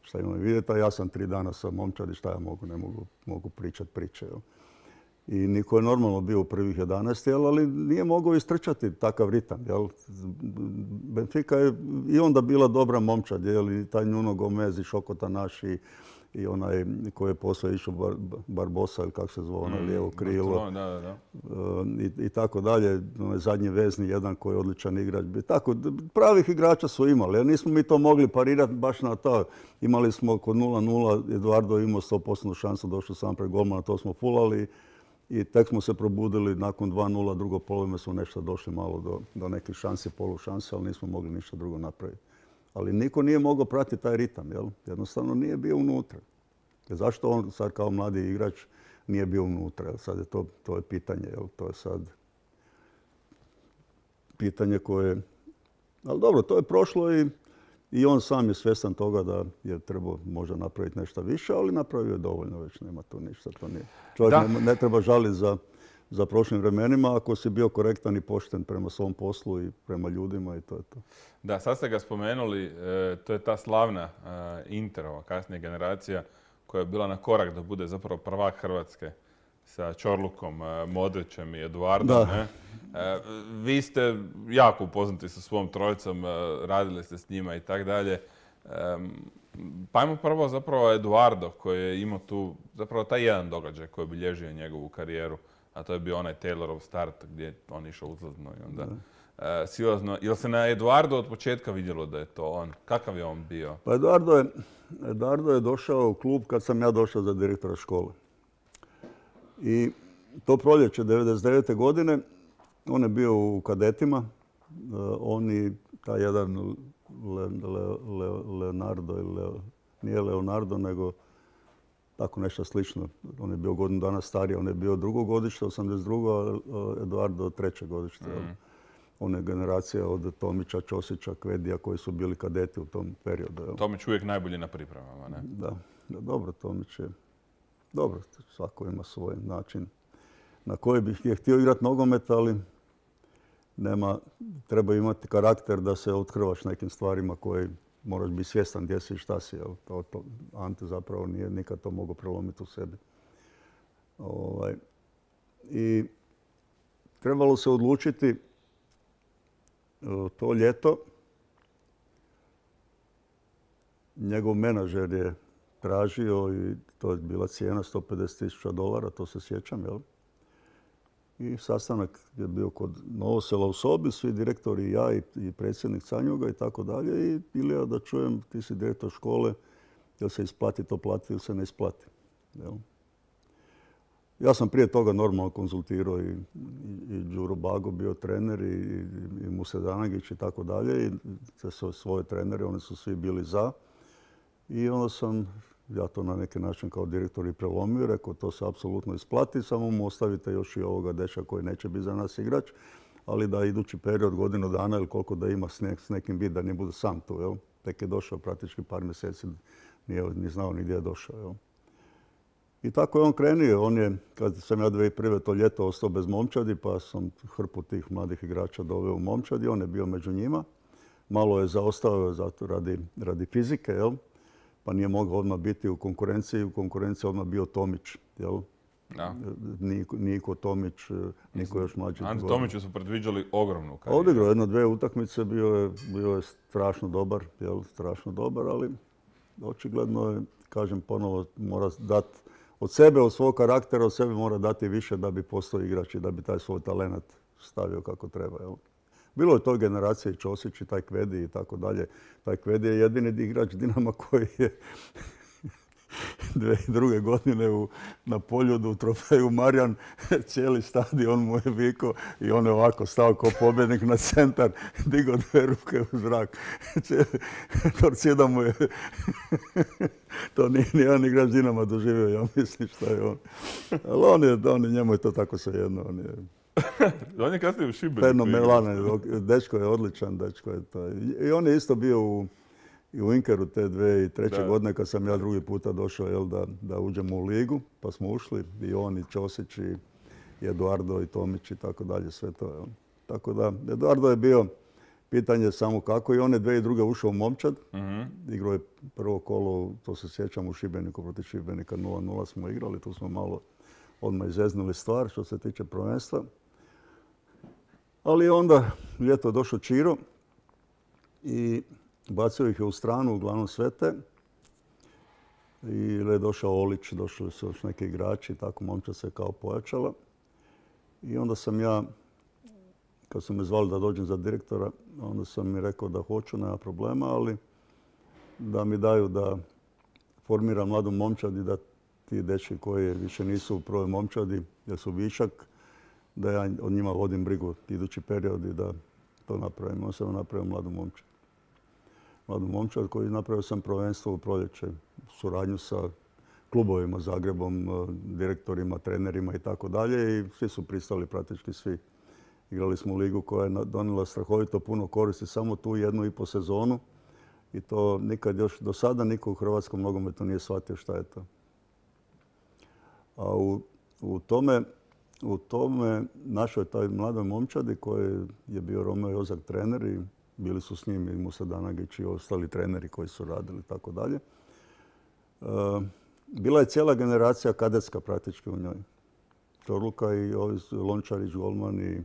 Šta imam vidjeti, a ja sam tri dana sa momčadi, šta ja mogu, ne mogu, mogu pričati priče. Jel? I niko je normalno bio u prvih jedanaest, jel, ali nije mogao istrčati takav ritam. Jel. Benfica je i onda bila dobra momčad, jel, i taj Nuno Gomez i Šokota naš i, i onaj koji je poslije išao Bar, Barbosa, ili kako se zove, onaj lijevo krilo. Da, da, da. I, i tako dalje. Onaj zadnji vezni jedan koji je odličan igrač. Tako, pravih igrača su imali, jer nismo mi to mogli parirati baš na to. Imali smo kod nula nula, Eduardo imao sto posto šansu, došao sam pred golmana, to smo fulali. I tek smo se probudili nakon dva nula, drugo polovine smo nešto došli malo do, do nekih šansi, polušanse, ali nismo mogli ništa drugo napraviti. Ali niko nije mogao pratiti taj ritam, jel? Jednostavno nije bio unutra. Jer zašto on sad kao mladi igrač nije bio unutra? Jel? Sad je to, to je pitanje, jel? To je sad pitanje koje... Ali dobro, to je prošlo i, i on sam je svjestan toga da je trebao možda napraviti nešto više, ali napravio je dovoljno već, nema tu ništa. To nije. Čovjek ne, ne treba žaliti za, za prošlim vremenima ako si bio korektan i pošten prema svom poslu i prema ljudima i to je to. Da, sad ste ga spomenuli, e, to je ta slavna e, Interova, kasnija generacija koja je bila na korak da bude zapravo prvak Hrvatske sa Čorlukom, e, Modrićem i Eduardom. Ne? E, vi ste jako upoznati sa svom trojicom, e, radili ste s njima i tako dalje. E, pa ajmo prvo zapravo Eduardo koji je imao tu zapravo taj jedan događaj koji je obilježio njegovu karijeru, a to je bio onaj Taylorov start gdje je on išao uzlazno i onda e, silazno. Jel se na Eduardo od početka vidjelo da je to on? Kakav je on bio? Pa Eduardo je, Eduardo je došao u klub kad sam ja došao za direktora škole. I to proljeće devedeset devete. godine on je bio u kadetima. On i taj jedan Le, Le, Le, Leonardo, Le, nije Leonardo, nego tako nešto slično. On je bio godinu dana stariji, on je bio drugo godište, osamdeset drugo. a Eduardo treće godište. Mm. On je generacija od Tomića, Ćosića, Kvedija koji su bili kadeti u tom periodu. Jel? Tomić uvijek najbolji na pripremama, ne? Da, da, dobro, Tomić je... Dobro, svako ima svoj način na koji bih je htio igrati nogomet, ali nema, treba imati karakter da se otkrvaš nekim stvarima koji moraš biti svjestan gdje si i šta si. Jel? To, to, Ante zapravo nije nikad to mogao prelomiti u sebi. Ovaj, I trebalo se odlučiti to ljeto. Njegov menadžer je tražio i to je bila cijena sto pedeset tisuća dolara, to se sjećam, jel? I sastanak je bio kod Novosela u sobi, svi direktori i ja i, i predsjednik Canjuga i tako dalje. I Ilija, da čujem, ti si direktor škole, jel se isplati to plati ili se ne isplati. Jel? Ja sam prije toga normalno konzultirao i, i, i Đuro Bago bio trener i, i, i Muse Danagić i tako dalje. I te svoje trenere, oni su svi bili za. I onda sam ja to na neki način kao direktor i prelomio, rekao to se apsolutno isplati, samo mu ostavite još i ovoga dečka koji neće biti za nas igrač, ali da idući period godinu dana ili koliko da ima s, ne, s nekim bit, da ne bude sam tu. Jel? Tek je došao praktički par mjeseci, nije ni znao ni gdje je došao. Jel? I tako je on krenio. On je, kad sam ja dvije tisuće prve to ljeto ostao bez momčadi, pa sam hrpu tih mladih igrača doveo u momčadi. On je bio među njima. Malo je zaostao zato radi, radi fizike, jel? Pa nije mogao odmah biti u konkurenciji. U konkurenciji odmah bio Tomić, jel? Da. Niko, Niko Tomić, Niko još mlađi. Ante Tomiću su predviđali ogromnu karijeru. Odigrao jedno, dvije utakmice, bio je, bio je strašno dobar, jel? Strašno dobar, ali očigledno je, kažem ponovo, mora dati od sebe, od svog karaktera, od sebe mora dati više da bi postao igrač i da bi taj svoj talent stavio kako treba. Jel? Bilo je to generacije i Ćosić i taj Kvedi i tako dalje. Taj Kvedi je jedini igrač Dinama koji je dvije tisuće druge godine u, na Poljudu u trofeju Marjan cijeli stadion mu je vikao i on je ovako stao kao pobjednik na centar, digao dvije ruke u zrak. Torcida mu je to nije nijedan igrač Dinama doživio, ja mislim šta je on. Ali on je, on je, njemu je to tako svejedno. On je on je kasnije u Šibeniku. Fenomenalan, dečko je odličan, dečko je to. I on je isto bio u I u Inkeru te dvije tisuće treće godine kad sam ja drugi puta došao jel, da, da uđemo u ligu, pa smo ušli i on i Ćosić i Eduardo i Tomić i tako dalje, sve to. Jel. Tako da, Eduardo je bio pitanje samo kako i on je dvije tisuće druge ušao u momčad. Mm-hmm. Igrao je prvo kolo, to se sjećam, u Šibeniku protiv Šibenika nula nula smo igrali, tu smo malo odmah izeznuli stvar što se tiče prvenstva. Ali onda ljeto je došao Čiro i bacio ih je u stranu, uglavnom sve te. I je došao Olić, došli su još neki igrači, tako momčad se kao pojačala. I onda sam ja, kad su me zvali da dođem za direktora, onda sam mi rekao da hoću, nema problema, ali da mi daju da formiram mladu momčad i da ti dečki koji više nisu u prvoj momčadi, jer su višak, da ja od njima vodim brigu idući period i da to napravim. On sam napravio mladu momčad. Mladu momčad koji napravio sam prvenstvo u proljeće, suradnju sa klubovima, Zagrebom, direktorima, trenerima i tako dalje i svi su pristali, praktički svi. Igrali smo u ligu koja je donijela strahovito puno koristi, samo tu jednu i po sezonu i to nikad još do sada niko u hrvatskom nogometu nije shvatio šta je to. A u, u tome, u tome našoj taj mladoj momčadi koji je bio Romeo Jozak trener i bili su s njim i Musa Danagić i ostali treneri koji su radili i tako dalje. Bila je cijela generacija kadetska praktički u njoj. Čorluka i ovi Lončarić, Golman i,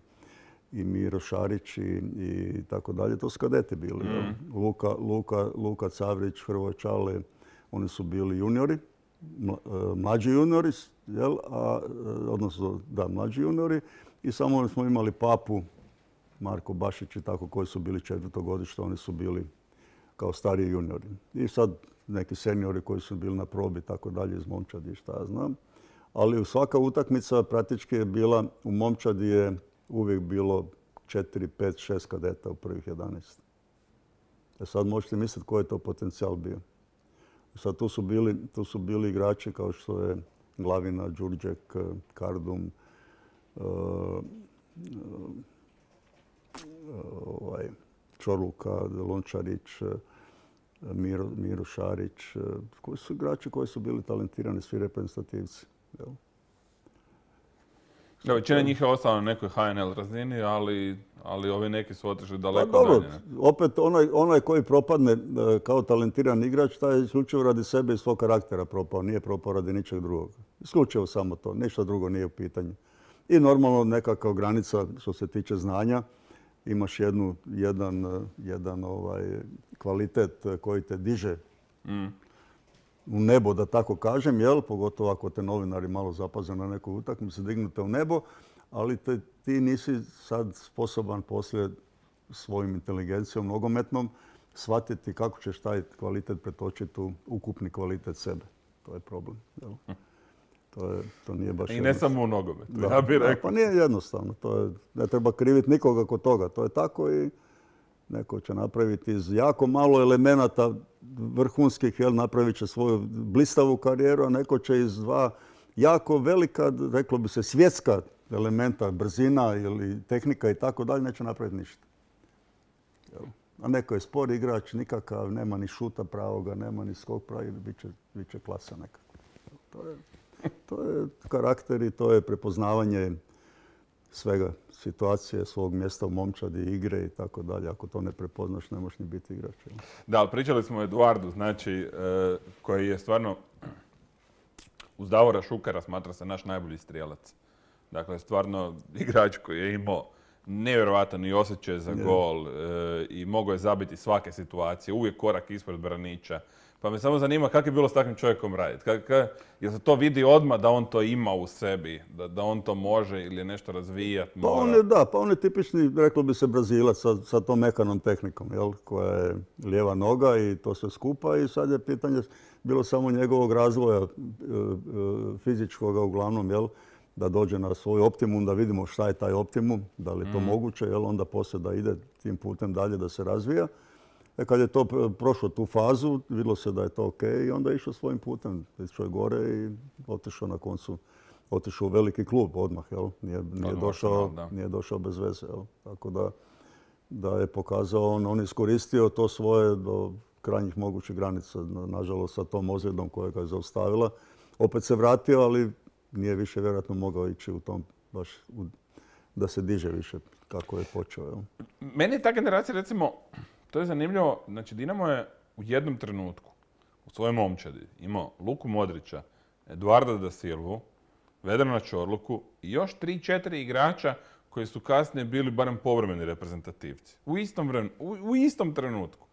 i Miro Šarić i, i tako dalje. To su kadeti bili. Mm. Luka, Luka, Luka Cavrić, Hrvoje Čale, oni su bili juniori, mlađi juniori, jel? A, odnosno da, mlađi juniori i samo smo imali Papu, Marko Bašić i tako koji su bili četvrtogodište, oni su bili kao stariji juniori. I sad neki seniori koji su bili na probi tako dalje iz momčadi, šta ja znam. Ali svaka utakmica praktički je bila, u momčadi je uvijek bilo četiri, pet, šest kadeta u prvih jedanaest. E sad možete misliti koji je to potencijal bio. Sad tu su bili, tu su bili igrači kao što je Glavina, Đurđek, Kardum, uh, ovaj, Čorluka, Lončarić, Miro, Miro Šarić, koji su igrači koji su bili talentirani, svi reprezentativci. Da, većina njih je ostala na nekoj H N L razini, ali, ali ovi neki su otišli daleko pa, dobro, dalje. Ne? Opet onaj, onaj koji propadne kao talentiran igrač, taj je isključivo radi sebe i svog karaktera propao. Nije propao radi ničeg drugog. Isključivo samo to. Ništa drugo nije u pitanju. I normalno nekakva granica što se tiče znanja. Imaš jednu, jedan, jedan ovaj, kvalitet koji te diže mm. u nebo, da tako kažem, jel? Pogotovo ako te novinari malo zapaze na neku utakmicu, dignute u nebo, ali te, ti nisi sad sposoban poslije svojim inteligencijom nogometnom shvatiti kako ćeš taj kvalitet pretočiti u ukupni kvalitet sebe. To je problem. Jel? To, je, to nije baš I ne samo u nogometu, da, ja bih rekao. Pa nije jednostavno. To je, ne treba kriviti nikoga kod toga. To je tako i neko će napraviti iz jako malo elemenata vrhunskih, jel, napravit će svoju blistavu karijeru, a neko će iz dva jako velika, reklo bi se, svjetska elementa, brzina ili tehnika i tako dalje, neće napraviti ništa. Jel? A neko je spor igrač, nikakav, nema ni šuta pravoga, nema ni skok pravi, bit će, bit će klasa nekako. To je... To je karakter i to je prepoznavanje svega, situacije, svog mjesta u momčadi, igre i tako dalje. Ako to ne prepoznaš, ne možeš ni biti igrač. Da, ali pričali smo o Eduardu, znači, koji je stvarno uz Davora Šukera smatra se naš najbolji strijelac. Dakle, stvarno igrač koji je imao nevjerojatan i osjećaj za gol i mogao je zabiti svake situacije, uvijek korak ispred braniča. Pa me samo zanima kako je bilo s takvim čovjekom raditi. Jel se to vidi odmah da on to ima u sebi, da, da on to može ili je nešto razvijati? Pa on je, da, pa on je tipični, reklo bi se, Brazilac sa, sa tom mekanom tehnikom, jel, koja je lijeva noga i to sve skupa i sad je pitanje bilo samo njegovog razvoja e, e, fizičkoga uglavnom, jel, da dođe na svoj optimum, da vidimo šta je taj optimum, da li je to mm. moguće, jel, onda poslije da ide tim putem dalje da se razvija. E kad je to prošlo tu fazu, vidjelo se da je to ok i onda je išao svojim putem. Išao je gore i otišao na koncu, otišao u veliki klub odmah, jel? Nije, nije, došao, nije došao bez veze, jel? Tako da, da je pokazao, on, on iskoristio to svoje do krajnjih mogućih granica, nažalost sa tom ozljedom koja ga je zaustavila. Opet se vratio, ali nije više vjerojatno mogao ići u tom baš u, da se diže više kako je počeo. Jel? Meni je ta generacija, recimo, to je zanimljivo, znači Dinamo je u jednom trenutku u svojoj momčadi imao Luku Modrića, Eduarda da Silvu, Vedrana Čorluku i još tri, četiri igrača koji su kasnije bili barem povremeni reprezentativci. U istom, vremenu, u, u istom trenutku.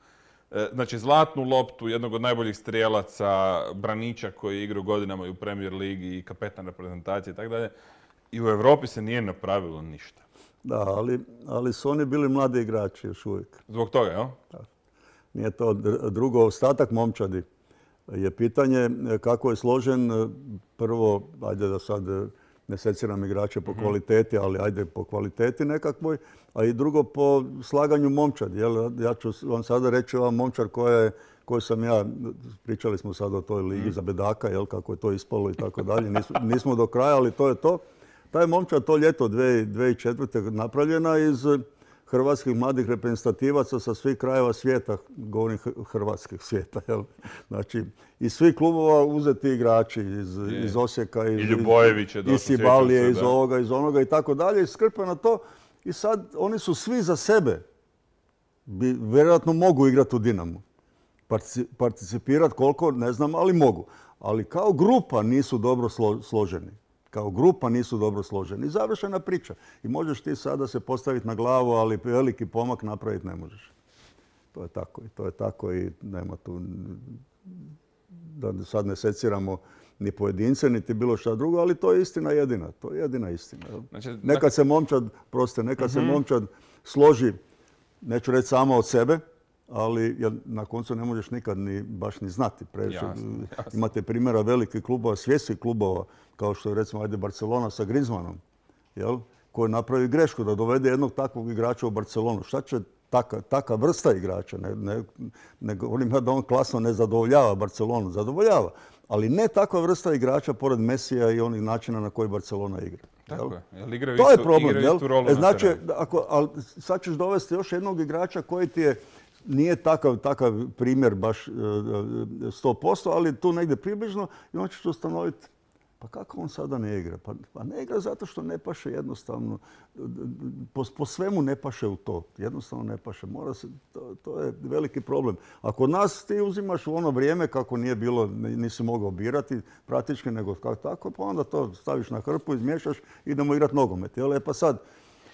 E, znači zlatnu loptu, jednog od najboljih strijelaca, braniča koji je igrao godinama i u Premier ligi i kapetan reprezentacije i tako dalje. I u Europi se nije napravilo ništa. Da, ali, ali su oni bili mladi igrači još uvijek. Zbog toga, jel? Da. Nije to drugo, ostatak momčadi je pitanje kako je složen. Prvo, ajde da sad ne seciram igrače po mm-hmm. kvaliteti, ali ajde po kvaliteti nekakvoj, a i drugo po slaganju momčadi. Jel? Ja ću vam sada reći ova momčar koja je, koju sam ja, pričali smo sad o toj ligi mm. za bedaka, jel, kako je to ispalo i tako dalje. Nismo, nismo do kraja, ali to je to. Ta je momčad to ljeto dvije tisuće četvrte napravljena iz hrvatskih mladih reprezentativaca sa svih krajeva svijeta, govorim hrvatskih svijeta, jel? Znači, iz svih klubova uzeti igrači, iz, iz Osijeka, iz, iz Sibalije, iz ovoga, iz onoga i tako dalje, i skrpe na to. I sad oni su svi za sebe, bi, vjerojatno mogu igrati u Dinamu. Participirati koliko, ne znam, ali mogu. Ali kao grupa nisu dobro slo, složeni. Kao grupa nisu dobro složeni. I završena priča. I možeš ti sada se postaviti na glavu, ali veliki pomak napraviti ne možeš. To je tako i to je tako i nema tu, da sad ne seciramo ni pojedince, niti bilo šta drugo, ali to je istina jedina. To je jedina istina. Znači, nekad se momčad, proste, nekad uh-huh. se momčad složi, neću reći samo od sebe, ali jer na koncu ne možeš nikad ni, baš ni znati. Previše. Jasno, jasno. Imate primjera velikih klubova, svjetskih klubova, kao što je recimo ajde Barcelona sa Griezmannom, jel? Koji napravi grešku da dovede jednog takvog igrača u Barcelonu. Šta će taka, taka vrsta igrača? Ne, ne, ne govorim ja da on klasno ne zadovoljava Barcelonu, zadovoljava. Ali ne takva vrsta igrača pored Mesija i onih načina na koji Barcelona igra. Tako je. Jel igraju to istu, je problem. Igraju istu rolu e, znači, ako, ali sad ćeš dovesti još jednog igrača koji ti je nije takav, takav primjer baš sto posto, ali tu negdje približno i on ćeš ustanoviti pa kako on sada ne igra? Pa, pa ne igra zato što ne paše jednostavno. Po, po svemu ne paše u to. Jednostavno ne paše. Mora se, to, to je veliki problem. A kod nas ti uzimaš u ono vrijeme kako nije bilo, nisi mogao birati praktički, nego kako tako, pa onda to staviš na hrpu, izmiješaš, idemo igrati nogomet. Jel? E pa sad,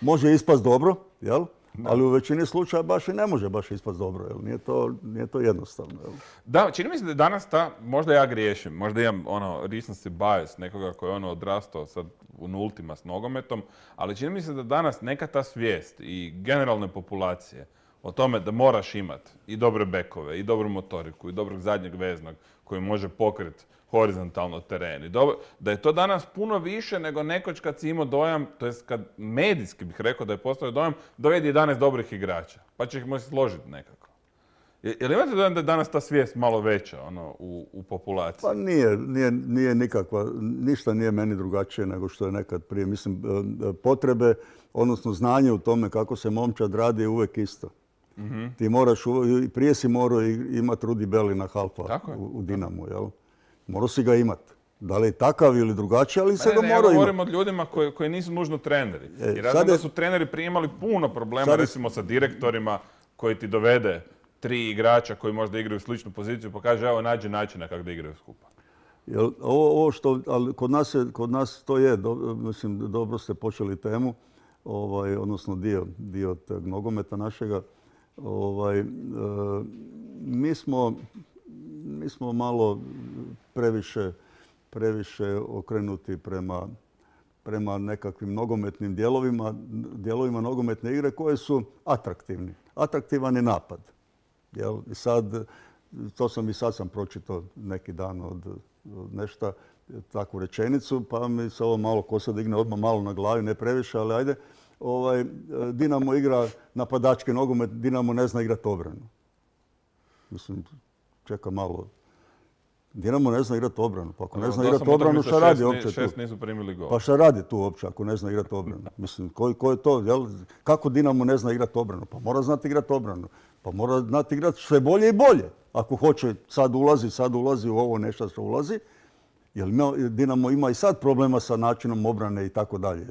može ispast dobro, jel? Da. Ali u većini slučaja baš i ne može baš ispast dobro, jel? Nije to, nije to jednostavno. Jel? Da, čini mi se da je danas ta, možda ja griješim, možda imam ono recency bias, nekoga koji je ono odrastao sad u nultima s nogometom, ali čini mi se da danas neka ta svijest i generalne populacije o tome da moraš imati i dobre bekove, i dobru motoriku, i dobrog zadnjeg veznog koji može pokriti horizontalno teren. I dobro, da je to danas puno više nego nekoć kad si imao dojam, to jest kad medijski bih rekao da je postao dojam, dovedi jedanaest dobrih igrača, pa će ih moći složiti nekako. Je li imate dojam da je danas ta svijest malo veća ono, u, u populaciji? Pa nije, nije, nije nikakva, ništa nije meni drugačije nego što je nekad prije. Mislim, potrebe, odnosno znanje u tome kako se momčad radi je uvijek isto. Mm-hmm. Ti moraš, prije si morao imati Rudi Belina halfa u, u Dinamu, jel? Morao si ga imat. Da li je takav ili drugačiji, ali se Ne, ga ne, ja mora imati. govorim od ljudima koji, koji nisu nužno treneri. E, Jer ja sad znam da je- su treneri prije imali puno problema, sad je- recimo sa direktorima koji ti dovede tri igrača koji možda igraju sličnu poziciju pa kaže evo nađi načina kako da igraju skupa. Jel, ovo, ovo što, ali kod nas, je, kod nas to je, do, mislim, dobro ste počeli temu, ovaj, odnosno dio, dio tog nogometa našega. Ovaj, e, mi, smo, mi smo malo previše, previše okrenuti prema, prema nekakvim nogometnim dijelovima, dijelovima nogometne igre koje su atraktivni. Atraktivan je napad. Jel? I sad, to sam i sad sam pročitao neki dan od, od nešto, takvu rečenicu, pa mi se ovo malo kosa digne odmah malo na glavi, ne previše, ali ajde. Ovaj, Dinamo igra napadački nogomet, Dinamo ne zna igrati obranu. Mislim, čeka malo. Dinamo ne zna igrati obranu. Pa ako ne zna igrati obranu, šta radi uopće tu? Šest nisu primili gol. Pa šta radi tu uopće ako ne zna igrati obranu? Mislim, ko, ko je to? Jel? Kako Dinamo ne zna igrati obranu? Pa mora znati igrati obranu. Pa mora znati igrati sve bolje i bolje. Ako hoće, sad ulazi, sad ulazi u ovo nešto što ulazi. Jer Dinamo ima i sad problema sa načinom obrane i tako dalje.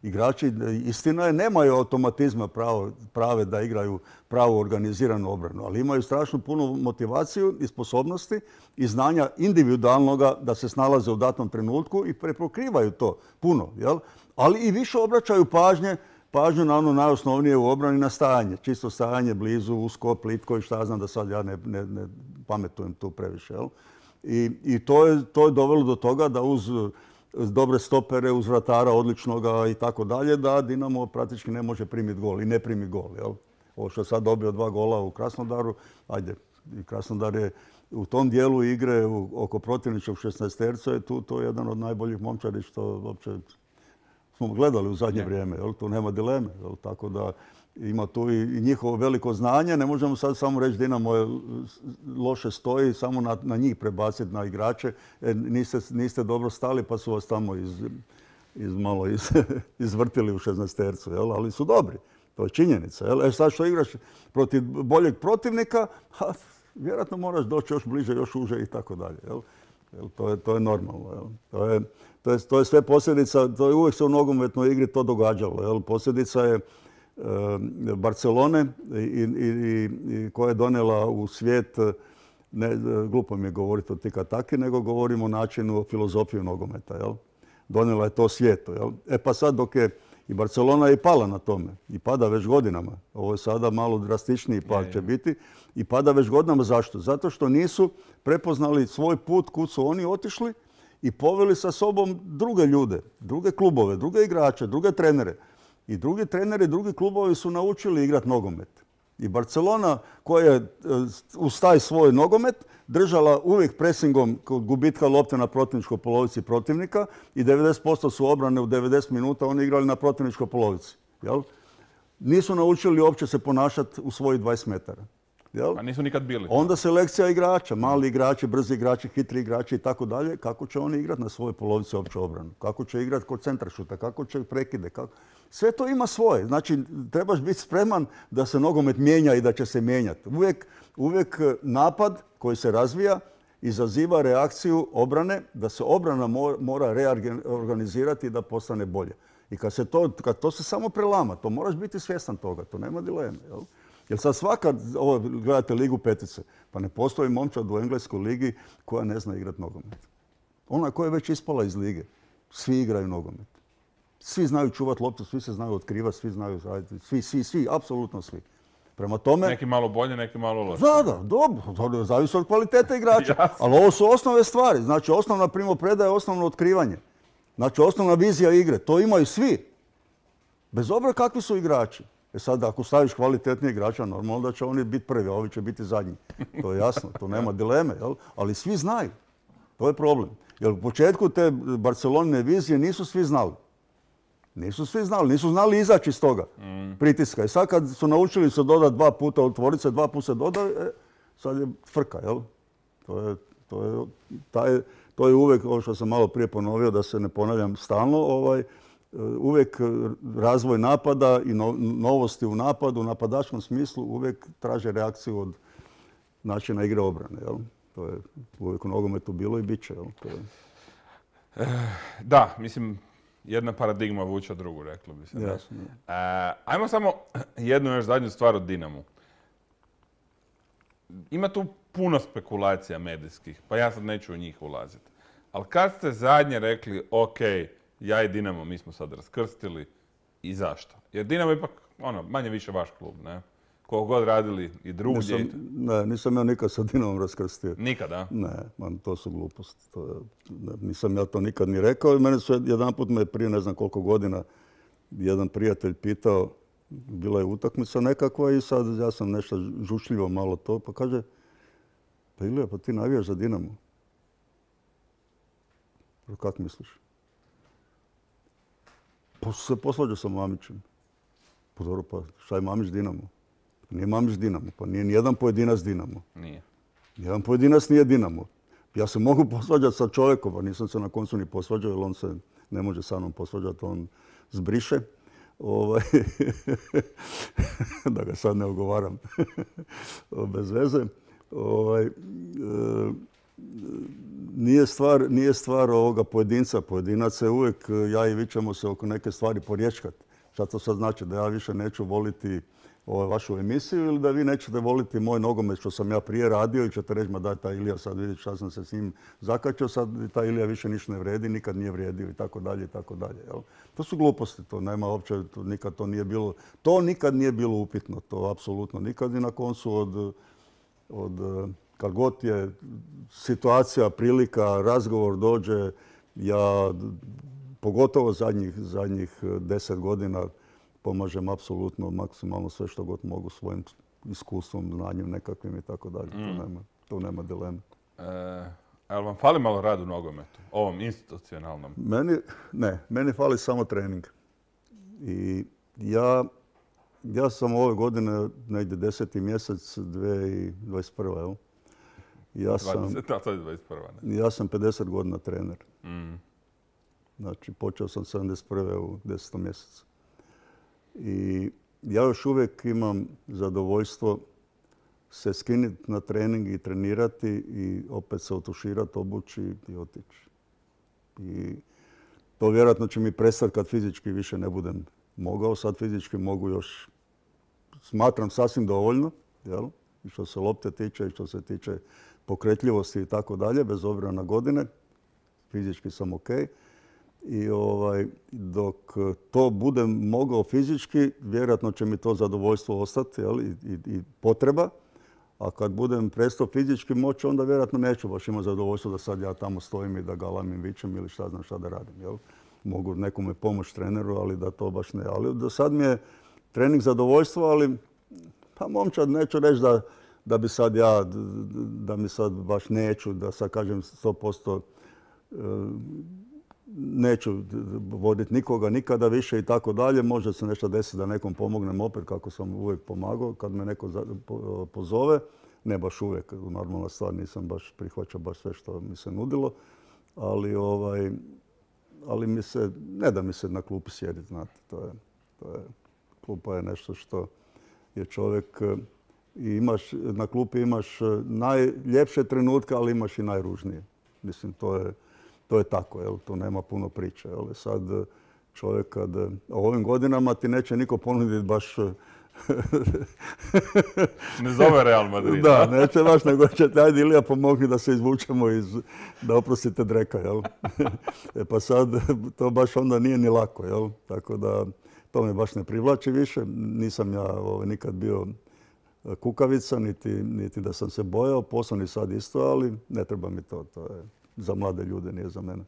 Igrači, istina je, nemaju automatizma pravo, prave da igraju pravu organiziranu obranu, ali imaju strašno puno motivaciju i sposobnosti i znanja individualnoga da se snalaze u datom trenutku i prepokrivaju to puno. Jel? Ali i više obraćaju pažnje, pažnju na ono najosnovnije u obrani, na stajanje. Čisto stajanje blizu, usko, plitko i šta znam da sad ja ne, ne, ne pametujem tu previše. Jel? I, i to, je, to je dovelo do toga da uz, uz dobre stopere, uz vratara odličnoga i tako dalje, da Dinamo praktički ne može primiti gol i ne primi gol. Jel? Ovo što je sad dobio dva gola u Krasnodaru, ajde, i Krasnodar je u tom dijelu igre u, oko protivničkog šesnaesterca je tu to je jedan od najboljih momčadi što uopće smo gledali u zadnje ne. vrijeme. Jel? Tu nema dileme. Jel? Tako da ima tu i njihovo veliko znanje. Ne možemo sad samo reći Dinamo je loše stoji, samo na, na njih prebaciti na igrače. E, niste, niste dobro stali pa su vas tamo iz, iz, malo iz, izvrtili u šesnaestercu. Jel? Ali su dobri. To je činjenica. Jel? E sad što igraš protiv boljeg protivnika, ha, vjerojatno moraš doći još bliže, još uže i tako dalje. Jel? Jel? To, je, to je normalno. Jel? To, je, to, je, to je sve posljedica, to je uvijek se u nogometnoj igri to događalo. Jel? Posljedica je Barcelone i, i, i koja je donijela u svijet, ne, glupo mi je govoriti o tiki-taki, nego govorimo o načinu, o filozofiju nogometa. Jel? Donijela je to svijetu. Jel? E pa sad dok je i Barcelona je pala na tome i pada već godinama. Ovo je sada malo drastičniji pad će biti i pada već godinama. Zašto? Zato što nisu prepoznali svoj put kud su oni otišli i poveli sa sobom druge ljude, druge klubove, druge igrače, druge trenere. I drugi treneri, drugi klubovi su naučili igrati nogomet. I Barcelona koja je uz taj svoj nogomet držala uvijek presingom kod gubitka lopte na protivničkoj polovici protivnika i devedeset posto su obrane u devedeset minuta oni igrali na protivničkoj polovici. Jel? Nisu naučili uopće se ponašati u svojih dvadeset metara. Jel? A nisu nikad bili. Onda selekcija igrača, mali igrači, brzi igrači, hitri igrači i tako dalje. Kako će oni igrati na svojoj polovici opće obranu? Kako će igrati kod centrašuta? Kako će prekide? Kako... Sve to ima svoje. Znači, trebaš biti spreman da se nogomet mijenja i da će se mijenjati. Uvijek, uvijek napad koji se razvija izaziva reakciju obrane, da se obrana mora reorganizirati i da postane bolje. I kad se to, kad to se samo prelama, to moraš biti svjestan toga, to nema dileme. Jel? Jer sad svaka, ovo gledate Ligu petice, pa ne postoji momčad u engleskoj ligi koja ne zna igrati nogomet. Ona koja je već ispala iz lige, svi igraju nogomet. Svi znaju čuvati loptu, svi se znaju otkrivati, svi znaju raditi, svi, svi, svi, apsolutno svi. Prema tome... Neki malo bolje, neki malo loše. Da, da, dobro, zavisi od kvalitete igrača. Ali ovo su osnovne stvari. Znači, osnovna primopredaja je osnovno otkrivanje. Znači, osnovna vizija igre. To imaju svi. Bez obzira kakvi su igrači. E sad, ako staviš kvalitetnije igrača, normalno da će oni biti prvi, a ovi će biti zadnji. To je jasno, to nema dileme. Jel? Ali svi znaju. To je problem. Jer u početku te Barcelonine vizije nisu svi znali. Nisu svi znali, nisu znali izaći iz toga mm. pritiska. I sad kad su naučili se dodati dva puta, otvoriti se, dva puta se doda, e, sad je frka, jel? To je, to je, taj, to je uvijek, ovo što sam malo prije ponovio, da se ne ponavljam stalno, ovaj, uvijek razvoj napada i no, novosti u napadu, u napadačkom smislu, uvijek traže reakciju od načina igre obrane, jel? To je uvijek u nogometu bilo i bit će, jel? To je... Da, mislim, jedna paradigma vuče drugu, reklo bi se. Jasno. E, ajmo samo jednu još zadnju stvar o Dinamu. Ima tu puno spekulacija medijskih, pa ja sad neću u njih ulaziti. Ali kad ste zadnje rekli, ok, ja i Dinamo, mi smo sad raskrstili, i zašto? Jer Dinamo je ipak, ono, manje više vaš klub, ne? Koliko god radili i drugdje. Nisam, ne, nisam ja nikad sa Dinamom raskrstio. Nikada? Ne, man, to su gluposti. To je, ne, nisam ja to nikad ni rekao i mene su jedanput me prije ne znam koliko godina jedan prijatelj pitao, bila je utakmica nekakva i sad ja sam nešto žučljivo malo to, pa kaže, pa Ilija, pa ti navijaš za Dinamo. Pa kak misliš? Pa se posvađao sa Mamićem. Pa dobro, pa šta je Mamić Dinamo? Nije Mamić Dinamo, pa nije nijedan pojedinac Dinamo. Nije. Nijedan pojedinac nije Dinamo. Ja se mogu posvađati sa čovjekom, a nisam se na koncu ni posvađao, jer on se ne može sa mnom posvađati, on zbriše. Ovaj, da ga sad ne ogovaram bez veze. Ovaj, e, nije stvar, nije stvar ovoga pojedinca. Pojedinac je uvijek, ja i vi ćemo se oko neke stvari porječkati. Šta to sad znači? Da ja više neću voliti ovaj, vašu emisiju ili da vi nećete voliti moj nogomet što sam ja prije radio i ćete reći, ma daj, taj Ilija sad vidi šta sam se s njim zakačio, sad taj Ilija više ništa ne vredi, nikad nije vrijedio i tako dalje i tako dalje. To su gluposti, to nema uopće, to, nikad to nije bilo, to nikad nije bilo upitno, to apsolutno nikad i na koncu od, od kad god je situacija, prilika, razgovor dođe, ja pogotovo zadnjih, zadnjih deset godina pomažem apsolutno maksimalno sve što god mogu svojim iskustvom, znanjem nekakvim i tako dalje. To nema, to nema dileme. E, ali vam fali malo rad u nogometu, ovom institucionalnom? Meni, ne, meni fali samo trening. I ja, ja sam ove godine, negdje deseti mjesec dvije tisuće dvadeset prve. Jel? Ja sam, dvadeset, to je dvadeset prva. Ne? Ja sam pedeset godina trener. Mm. Znači, počeo sam sedamdeset prve u desetom mjesecu. I ja još uvijek imam zadovoljstvo se skinuti na trening i trenirati i opet se otuširati, obući i otići. I to vjerojatno će mi prestati kad fizički više ne budem mogao. Sad fizički mogu još, smatram sasvim dovoljno, jel? I što se lopte tiče i što se tiče pokretljivosti i tako dalje, bez obzira na godine. Fizički sam ok. I ovaj, dok to budem mogao fizički, vjerojatno će mi to zadovoljstvo ostati, jel? I, i, i potreba. A kad budem prestao fizički moći, onda vjerojatno neću baš imati zadovoljstvo da sad ja tamo stojim i da galamim, vičem ili šta znam šta da radim. Jel? Mogu nekome pomoći treneru, ali da to baš ne. Ali do sad mi je trening zadovoljstvo, ali pa momčad neću reći da, da bi sad ja, da mi sad baš neću, da sad kažem sto posto neću voditi nikoga nikada više i tako dalje. Može se nešto desiti da nekom pomognem opet kako sam uvijek pomagao kad me neko pozove. Ne baš uvijek, normalna stvar, nisam baš prihvaćao baš sve što mi se nudilo. Ali, ovaj, ali mi se, ne da mi se na klupi sjediti, znate. To je, to je, klupa je nešto što je čovjek i imaš, na klupi imaš najljepše trenutke, ali imaš i najružnije. Mislim, to je, to je tako, jel? To nema puno priče. Jel? Sad čovjek kad u ovim godinama ti neće niko ponuditi baš... Ne zove Real Madrid. Da, neće baš, nego će te, ajde Ilija pomogni da se izvučemo iz, da oprostite Dreka, jel? E pa sad to baš onda nije ni lako, jel? Tako da to me baš ne privlači više. Nisam ja ovaj, nikad bio kukavica, niti, niti da sam se bojao, poslovni sad isto, ali ne treba mi to, to je za mlade ljude, nije za mene.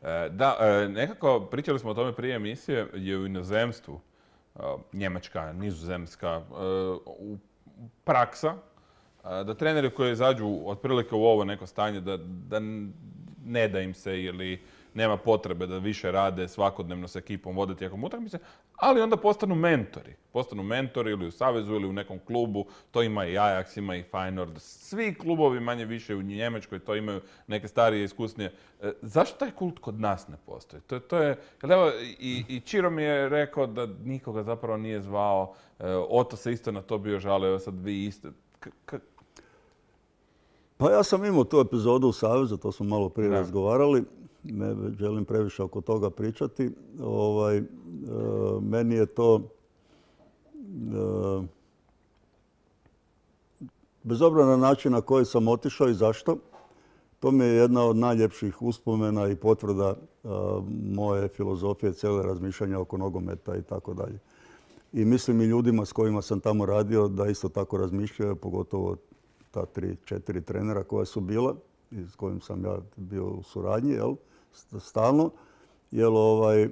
E, da, e, nekako pričali smo o tome prije emisije, je u inozemstvu, e, Njemačka, Nizozemska, e, u praksa, e, da treneri koji izađu otprilike u ovo neko stanje, da, da ne da im se ili nema potrebe da više rade svakodnevno s ekipom, vode tijekom utakmice, ali onda postanu mentori. Postanu mentori ili u savezu ili u nekom klubu. To ima i Ajax, ima i Feyenoord. Svi klubovi manje više u Njemačkoj to imaju neke starije, iskusnije. E, zašto taj kult kod nas ne postoji? To, to je, evo, i, i Čiro mi je rekao da nikoga zapravo nije zvao. E, Oto se isto na to bio žalio, evo sad vi isto. K- k- Pa ja sam imao tu epizodu u Savezu, to smo malo prije da. razgovarali. ne želim previše oko toga pričati. Ovaj, e, meni je to, e, bez obzira na način na koji sam otišao i zašto, to mi je jedna od najljepših uspomena i potvrda e, moje filozofije, cijele razmišljanja oko nogometa i tako dalje. I mislim i ljudima s kojima sam tamo radio da isto tako razmišljaju, pogotovo ta tri, četiri trenera koja su bila i s kojim sam ja bio u suradnji, jel, stalno. Jel, ovaj,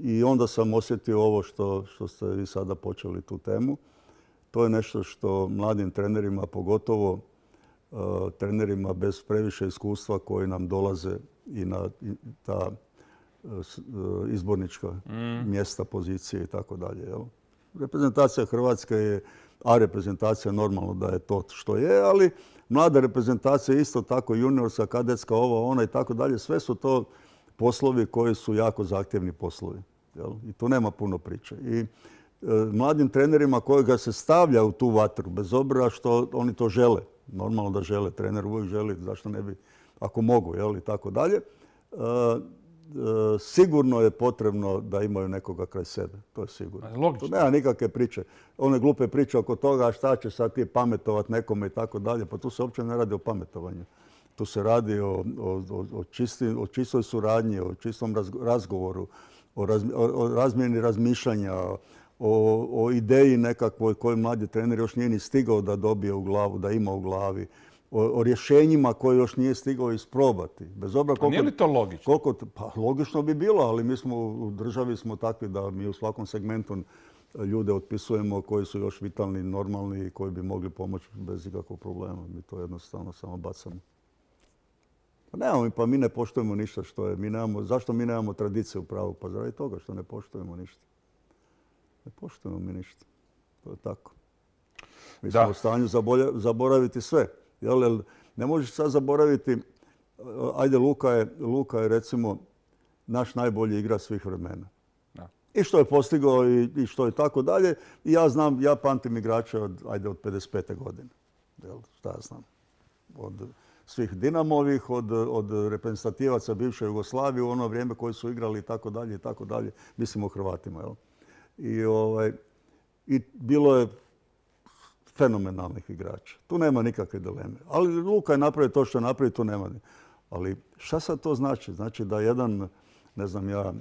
i onda sam osjetio ovo što, što ste vi sada počeli tu temu. To je nešto što mladim trenerima, pogotovo uh, trenerima bez previše iskustva koji nam dolaze i na i ta uh, izbornička mm. mjesta, pozicije i tako dalje. Reprezentacija Hrvatske je, a reprezentacija normalno da je to što je, ali mlada reprezentacija isto tako, juniorska, kadetska, ova, ona i tako dalje, sve su to poslovi koji su jako zahtjevni poslovi. Jel? I tu nema puno priče. I e, mladim trenerima koji ga se stavlja u tu vatru, bez obzira što oni to žele, normalno da žele, trener uvijek želi, zašto ne bi, ako mogu, jel, i tako dalje, e, e, sigurno je potrebno da imaju nekoga kraj sebe. To je sigurno. Logično. Tu nema nikakve priče. One glupe priče oko toga šta će sad ti pametovat nekome i tako dalje. Pa tu se uopće ne radi o pametovanju. Tu se radi o, o, o, čisti, o čistoj suradnji, o čistom razgovoru, o, raz, o razmjeni razmišljanja, o, o ideji nekakvoj koju mladi trener još nije ni stigao da dobije u glavu, da ima u glavi. O, o rješenjima koje još nije stigao isprobati. Bez obzira koliko, nije li to logično? Koliko, pa logično bi bilo, ali mi smo u državi smo takvi da mi u svakom segmentu ljude otpisujemo koji su još vitalni, normalni i koji bi mogli pomoći bez ikakvog problema. Mi to jednostavno samo bacamo. Pa nemamo, pa mi ne poštujemo ništa što je. Mi nemamo, zašto mi nemamo tradicije u pravu? Pa zaradi toga što ne poštujemo ništa. Ne poštujemo mi ništa. To je tako. Mi smo u stanju zaboraviti sve. Jel, ne možeš sad zaboraviti, ajde Luka je, Luka je recimo naš najbolji igrač svih vremena. Da. I što je postigao i, i što je tako dalje. I ja znam, ja pamtim igrača od, ajde, od pedeset pete godine. Jel, šta ja znam. Od svih Dinamovih, od, od reprezentativaca bivše Jugoslavije u ono vrijeme koji su igrali i tako dalje i tako dalje. Mislim o Hrvatima. Jel? I, ovaj, i bilo je fenomenalnih igrača. Tu nema nikakve dileme. Ali Luka je napravio to što je napravio, tu nema. Ali šta sad to znači? Znači da jedan, ne znam ja,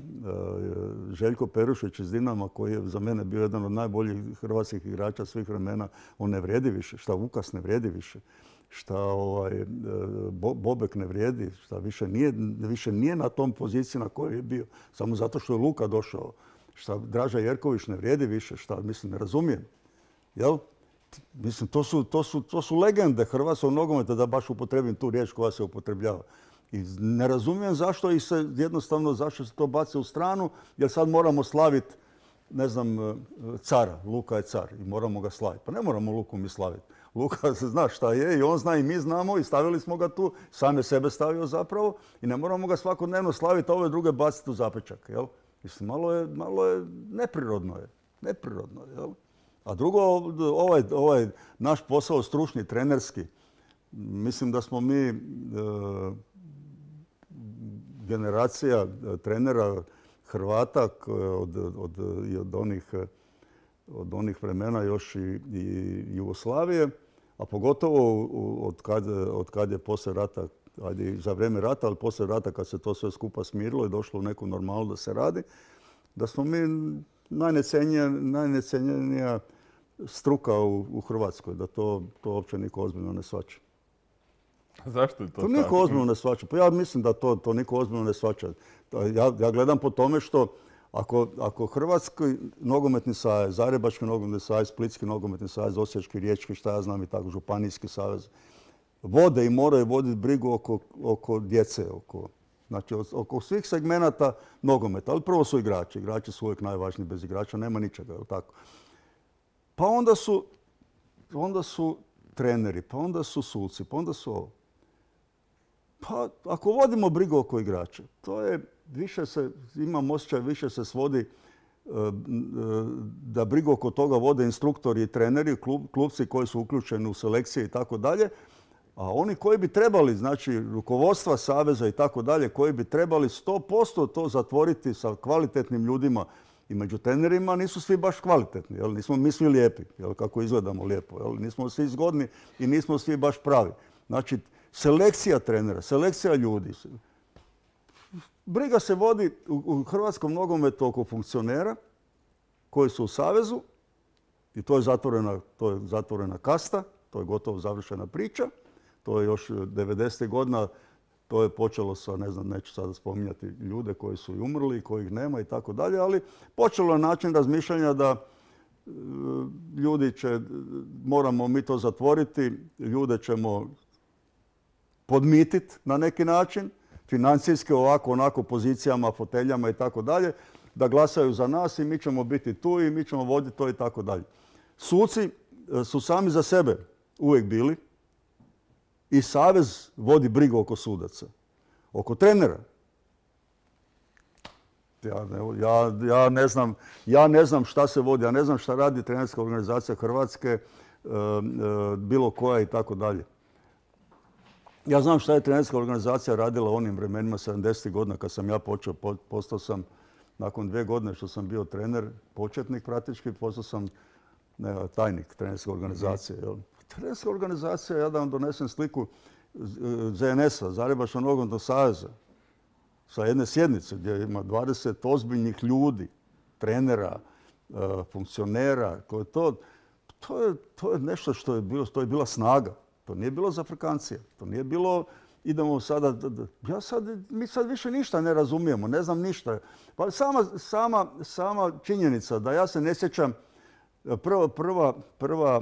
Željko Perušić iz Dinama, koji je za mene bio jedan od najboljih hrvatskih igrača svih vremena, on ne vrijedi više. Šta Vukas ne vrijedi više. Šta ovaj, Bobek ne vrijedi. Šta više nije, više nije na tom poziciji na kojoj je bio. Samo zato što je Luka došao. Šta Draža Jerković ne vrijedi više. Šta, mislim, ne razumijem. Jel? Mislim, to su, to su, to su legende hrvatskog nogometa, da baš upotrebim tu riječ koja se upotrebljava. I ne razumijem zašto i se jednostavno zašto se to baci u stranu, jer sad moramo slaviti, ne znam, cara. Luka je car i moramo ga slaviti. Pa ne moramo Luku mi slaviti. Luka se zna šta je i on zna i mi znamo i stavili smo ga tu, sam je sebe stavio zapravo i ne moramo ga svakodnevno slaviti, a ove druge baciti u zapečak. Jel? Mislim, malo je, malo je neprirodno je. Neprirodno je, jel? A drugo, ovaj, ovaj naš posao stručni, trenerski, mislim da smo mi e, generacija trenera Hrvata od, od, od, onih, od onih vremena još i, i Jugoslavije, a pogotovo od kad, od kad je poslije rata, ajde za vrijeme rata, ali poslije rata kad se to sve skupa smirilo i došlo u neku normalu da se radi, da smo mi najnecenjenija struka u, u Hrvatskoj, da to, to uopće niko ozbiljno ne shvaća. Zašto je to, to niko tako? Ozbiljno ne shvaća. Pa ja mislim da to, to niko ozbiljno ne shvaća. Ja, ja gledam po tome što ako, ako Hrvatski nogometni savez, Zagrebački nogometni savez, Splitski nogometni savez, Osječki, Riječki, šta ja znam i tako, Županijski savez, vode i moraju voditi brigu oko, oko djece, oko, znači oko svih segmenata nogometa. Ali prvo su igrači. Igrači su uvijek najvažniji, bez igrača nema ničega, jel tako? Pa onda su, onda su treneri, pa onda su suci, pa onda su ovo. Pa ako vodimo brigu oko igrača, to je više se, imam osjećaj, više se svodi da brigu oko toga vode instruktori i treneri, klub, klubci koji su uključeni u selekcije i tako dalje, A oni koji bi trebali, znači rukovodstva saveza i tako dalje, koji bi trebali sto posto to zatvoriti sa kvalitetnim ljudima i među trenerima, nisu svi baš kvalitetni. Jel? Nismo mi svi lijepi, jel? Kako izgledamo lijepo. Jel? Nismo svi zgodni i nismo svi baš pravi. Znači, selekcija trenera, selekcija ljudi. Briga se vodi u hrvatskom nogometu oko funkcionera koji su u savezu i to je zatvorena, to je zatvorena kasta, to je gotovo završena priča. To je još devedesetih godina, to je počelo sa, ne znam, neću sada spominjati ljude koji su i umrli, kojih nema i tako dalje, ali počelo je način razmišljanja da e, ljudi će, moramo mi to zatvoriti, ljude ćemo podmititi na neki način, financijski ovako, onako, pozicijama, foteljama i tako dalje, da glasaju za nas i mi ćemo biti tu i mi ćemo voditi to i tako dalje. Suci su sami za sebe uvijek bili i savez vodi brigu oko sudaca. Oko trenera. Ja ne, ja, ja, ne znam, ja ne znam šta se vodi, ja ne znam šta radi trenerska organizacija Hrvatske, e, e, bilo koja i tako dalje. Ja znam šta je trenerska organizacija radila u onim vremenima sedamdesetih godina kad sam ja počeo, postao sam nakon dvije godine što sam bio trener, početnik praktički, postao sam ne, tajnik trenerske organizacije. Jel? Trenerska organizacija, ja da vam donesem sliku Z N S-a, Zagrebačkog nogometnog saveza, sa jedne sjednice gdje ima dvadeset ozbiljnih ljudi, trenera, funkcionera, koje to, to, je, to je nešto što je bilo, to je bila snaga. To nije bilo za Afrikancije. To nije bilo, idemo sada, ja sad, mi sad više ništa ne razumijemo, ne znam ništa. Pa sama, sama, sama činjenica da ja se ne sjećam, prva, prva, prva,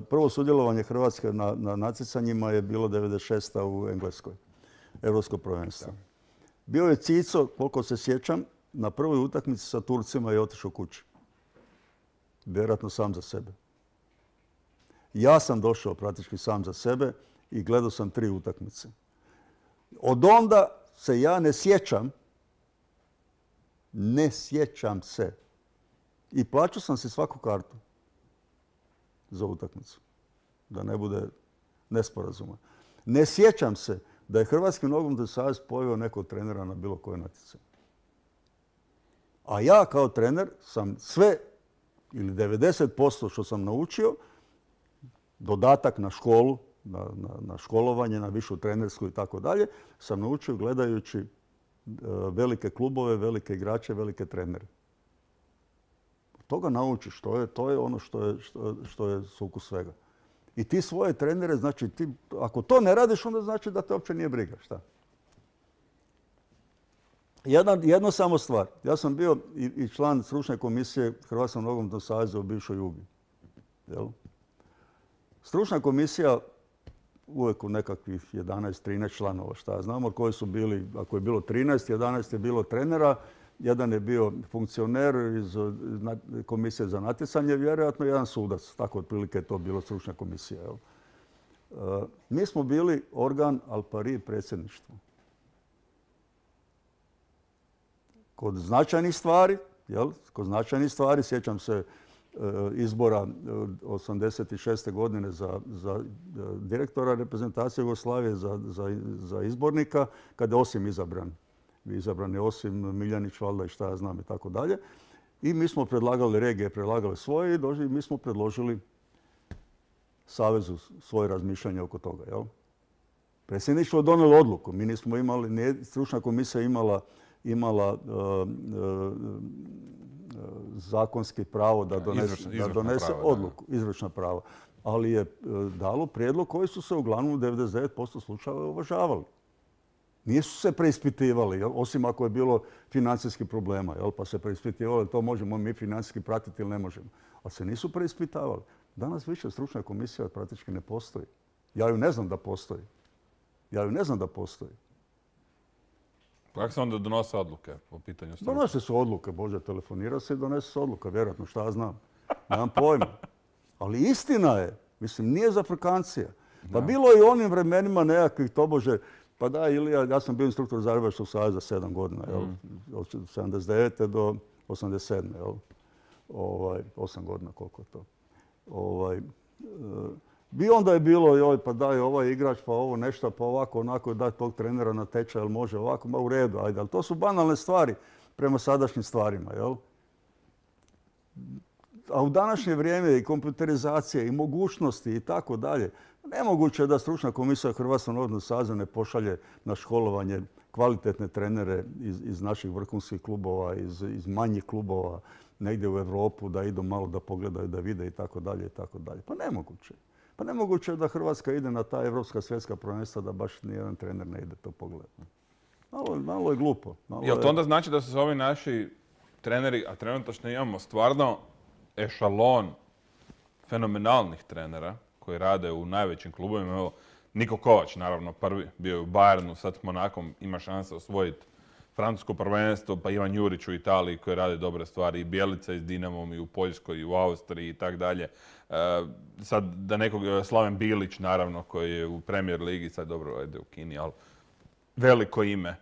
prvo sudjelovanje Hrvatske na, na natjecanjima je bilo devedeset šeste u Engleskoj, Europsko prvenstvo. Bio je Cico, koliko se sjećam, na prvoj utakmici sa Turcima je otišao kući. Vjerojatno sam za sebe. Ja sam došao praktički sam za sebe i gledao sam tri utakmice. Od onda se ja ne sjećam, ne sjećam se. I plaćao sam si svaku kartu za utakmicu, da ne bude nesporazuma. Ne sjećam se da je Hrvatski nogometni savez poveo nekog trenera na bilo koje natjecanje. A ja kao trener sam sve ili devedeset posto što sam naučio, dodatak na školu, na, na, na školovanje, na višu trenersku i tako dalje, sam naučio gledajući uh, velike klubove, velike igrače, velike trenere. Od toga naučiš, to je, to je ono što je, što, što je sukus svega. I ti svoje trenere, znači, ti, ako to ne radiš, onda znači da te uopće nije briga. Šta? Jedna, jedno samo stvar. Ja sam bio i, i član stručne komisije Hrvatskog nogometnog saveza u bivšoj Jugi. Jel? Stručna komisija uvijek u nekakvih jedanaest trinaest članova, šta znamo, koji su bili, ako je bilo trinaest, jedanaest je bilo trenera, jedan je bio funkcioner iz komisije za natjecanje, vjerojatno jedan sudac. Tako otprilike je to bilo stručna komisija. Jel? E, mi smo bili organ al pari predsjedništva. Kod značajnih stvari, jel? Kod značajnih stvari, sjećam se izbora osamdeset šeste godine za, za direktora reprezentacije Jugoslavije, za, za, za izbornika, kada je Osim izabran. Izabran je Osim, Miljanić, valjda i šta ja znam i tako dalje. I mi smo predlagali, regije predlagale svoje i došli, mi smo predložili Savezu svoje razmišljanje oko toga. Jel? Predsjedništvo je donijelo odluku. Mi nismo imali, nije, stručna komisija imala, imala uh, uh, zakonski pravo da donese, izvršna, da donese prava, odluku, da. Izvršna prava. Ali je dalo prijedlog koji su se uglavnom u devedeset devet posto slučajeva uvažavali. Nisu se preispitivali, jel? Osim ako je bilo financijskih problema, jel? Pa se preispitivali, to možemo mi financijski pratiti ili ne možemo. Ali se nisu preispitavali. Danas više stručna komisija praktički ne postoji. Ja ju ne znam da postoji. Ja ju ne znam da postoji. Kako se onda donose odluke po pitanju struke? Donose su odluke, Bože, telefonira se i donese se odluka, vjerojatno, šta ja znam. Nemam pojma. Ali istina je, mislim, nije za Afrikancija. Pa da. Bilo je i u onim vremenima nekakvih tobože, pa da, Ilija, ja sam bio instruktor Zagrebačkog saveza sedam godina, jel? Mm. Od sedamdeset devete do osamdeset sedme Jel? Ovaj, osam godina, koliko je to. Ovaj, I onda je bilo, joj, pa daj ovaj igrač, pa ovo nešto, pa ovako, onako, daj tog trenera na tečaj, jel može ovako, ma u redu, ajde. Ali to su banalne stvari prema sadašnjim stvarima, jel? A u današnje vrijeme i kompjuterizacije i mogućnosti i tako dalje, nemoguće je da stručna komisija Hrvatskog nogometnog saveza ne pošalje na školovanje kvalitetne trenere iz, iz naših vrhunskih klubova, iz, iz manjih klubova, negdje u Europu, da idu malo da pogledaju, da vide i tako dalje i tako dalje. Pa nemoguće. Pa nemoguće je da Hrvatska ide na ta evropska svjetska prvenstva da baš nijedan trener ne ide to pogledati. Malo, malo je glupo. Malo Jel to je... onda znači da su se ovi naši treneri, a trenutačno imamo stvarno ešalon fenomenalnih trenera koji rade u najvećim klubovima. Evo, Niko Kovač, naravno, prvi bio je u Bayernu, sad s Monakom ima šanse osvojiti francusko prvenstvo, pa Ivan Jurić u Italiji koji radi dobre stvari, i Bjelica i s Dinamom, i u Poljskoj, i u Austriji i tak dalje. Sad da nekog, Slaven Bilić, naravno, koji je u Premier ligi, sad dobro, ajde u Kini, ali veliko ime.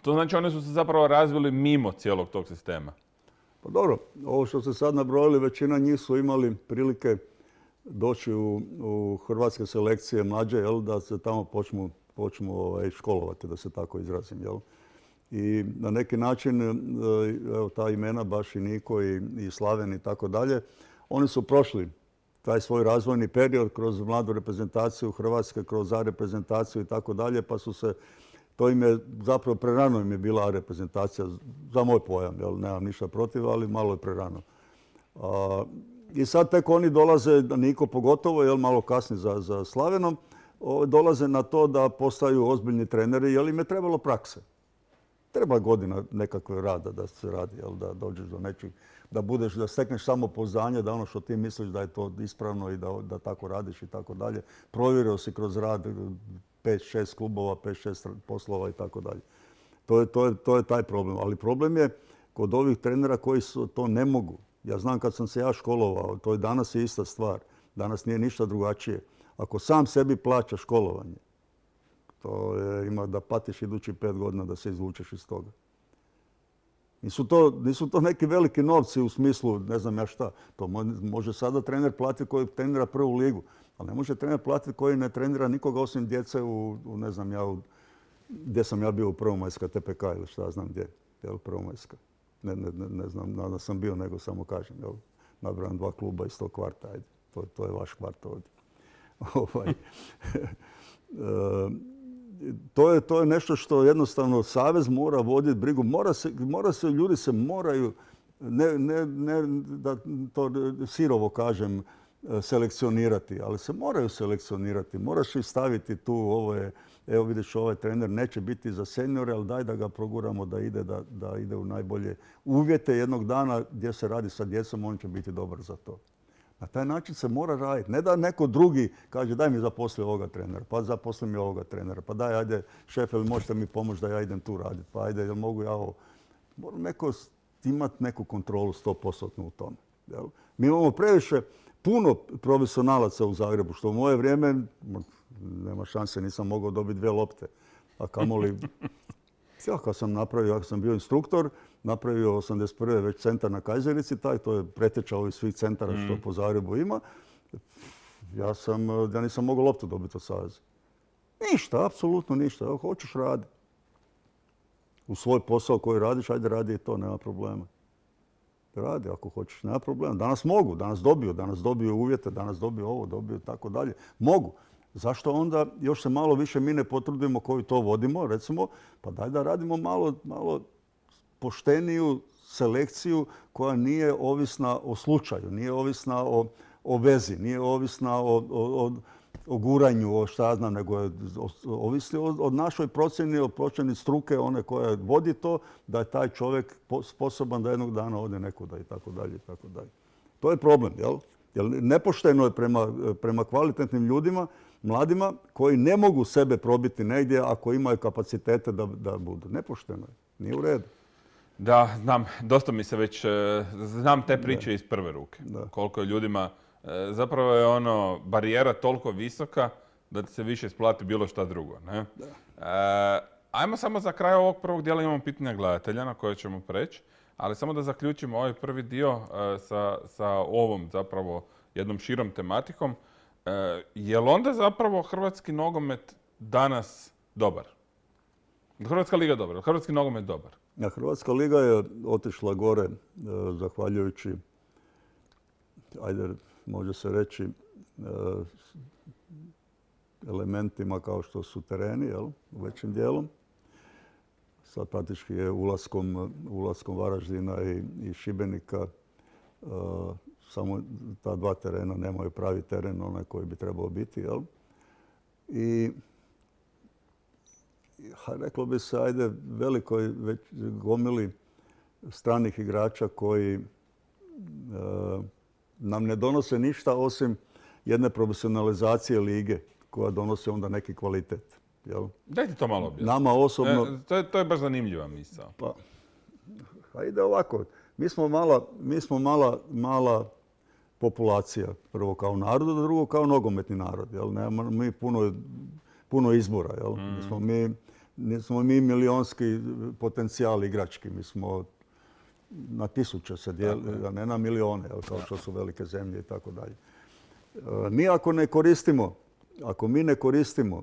To znači oni su se zapravo razvili mimo cijelog tog sistema. Pa dobro, ovo što ste sad nabrojili, većina njih su imali prilike doći u, u hrvatske selekcije mlađe, jel, da se tamo počnu, počnu ovaj, školovati, da se tako izrazim. Jel. I na neki način, evo, ta imena, baš i Niko i, i Slaven i tako dalje, oni su prošli taj svoj razvojni period kroz mladu reprezentaciju Hrvatske, kroz A reprezentaciju i tako dalje, pa su se, to im je zapravo prerano im je bila A reprezentacija, za moj pojam, jel, nemam ništa protiv, ali malo je prerano. A, I sad tek oni dolaze, Niko pogotovo, jel, malo kasni za, za Slavenom, o, dolaze na to da postaju ozbiljni treneri, jer im je trebalo prakse. Treba godina nekakve rada da se radi, jel, da dođeš do nečeg, da budeš, da stekneš samopouzdanje, da ono što ti misliš da je to ispravno i da, da tako radiš i tako dalje. Provjerio si kroz rad pet šest klubova, pet šest poslova i tako dalje. To je, to je, to je taj problem. Ali problem je kod ovih trenera koji su, to ne mogu. Ja znam kad sam se ja školovao, to je danas je ista stvar. Danas nije ništa drugačije. Ako sam sebi plaća školovanje, to je, ima da patiš idući pet godina da se izvučeš iz toga. Nisu to, nisu to neki veliki novci u smislu, ne znam ja šta. To može sada trener platiti koji trenira prvu ligu, ali ne može trener platiti koji ne trenira nikoga osim djece u, u ne znam ja, u, gdje sam ja bio u Prvomajska T P K ili šta znam gdje, jel, Prvomajska. Ne, ne, ne, ne znam da sam bio, nego samo kažem, jel, nabrajam dva kluba iz tog kvarta, ajde, to, to je vaš kvart ovdje. ovaj, To je, to je nešto što jednostavno savez mora voditi brigu. Mora se, mora se, ljudi se moraju, ne, ne, ne da to sirovo kažem, selekcionirati, ali se moraju selekcionirati. Moraš ih staviti tu, ovo je, evo vidiš, ovaj trener neće biti za seniore, ali daj da ga proguramo da ide, da, da ide u najbolje uvjete jednog dana gdje se radi sa djecom, on će biti dobar za to. Na taj način se mora raditi. Ne da neko drugi kaže daj mi zaposli ovoga trenera, pa zaposli mi ovoga trenera, pa daj, ajde, šef, ili možete mi pomoći da ja idem tu raditi, pa ajde, jel mogu ja ovo. Mora neko imati neku kontrolu sto posto u tome. Jel? Mi imamo previše puno profesionalaca u Zagrebu, što u moje vrijeme nema šanse, nisam mogao dobiti dvije lopte. A kamoli, ja kad sam napravio, kad sam bio instruktor, napravio osamdeset prve već centar na Kajzerici, taj, to je preteča ovih svih centara što po Zagrebu ima. Ja, sam, ja nisam mogao loptu dobiti od saveza. Ništa, apsolutno ništa. Evo, hoćeš raditi. U svoj posao koji radiš, ajde radi i to, nema problema. Radi ako hoćeš, nema problema. Danas mogu, danas dobiju, danas dobiju uvjete, danas dobiju ovo, dobiju tako dalje. Mogu. Zašto onda još se malo više mi ne potrudimo koji to vodimo, recimo, pa daj da radimo malo, malo pošteniju selekciju koja nije ovisna o slučaju, nije ovisna o, o vezi, nije ovisna o, o, o guranju, o šta znam, nego je ovisni o, o našoj procjeni, o procjeni struke, one koja vodi to, da je taj čovjek sposoban da jednog dana ode nekuda i tako dalje i tako dalje. To je problem, jel? Jer nepošteno je prema, prema kvalitetnim ljudima, mladima, koji ne mogu sebe probiti negdje ako imaju kapacitete da, da budu. Nepošteno je, nije u redu. Da, znam, dosta mi se već, znam te priče da. iz prve ruke. Da. Koliko je ljudima, zapravo je ono, barijera toliko visoka da ti se više isplati bilo šta drugo. Ne? Da. E, ajmo samo za kraj ovog prvog dijela, imamo pitanja gledatelja na koje ćemo preći, ali samo da zaključimo ovaj prvi dio e, sa, sa ovom zapravo jednom širom tematikom. E, je li onda zapravo hrvatski nogomet danas dobar? Hrvatska liga je dobra, hrvatski nogomet dobar? Ja, Hrvatska liga je otišla gore e, zahvaljujući, ajde, može se reći, e, elementima kao što su tereni, jel, većim dijelom. Sad praktički je ulaskom, ulaskom Varaždina i, i Šibenika e, samo ta dva terena nemaju pravi teren, onaj koji bi trebao biti, jel? I reklo bi se, ajde, velikoj već gomili stranih igrača koji e, nam ne donose ništa osim jedne profesionalizacije lige koja donosi onda neki kvalitet. Jel? Dajte to malo objasniti. Nama osobno... E, to, je, to je baš zanimljiva misao. Pa, ide ovako. Mi smo mala, mi smo mala, mala populacija. Prvo kao narod, a drugo kao nogometni narod. Jel? Nemamo mi puno, puno izbora. Jel? Mm. Nismo mi, nismo mi milionski potencijal igrački. Mi smo na tisuće se dijeli, a ne na milione, jel? Kao što su velike zemlje i tako dalje. Mi ako ne koristimo, ako mi ne koristimo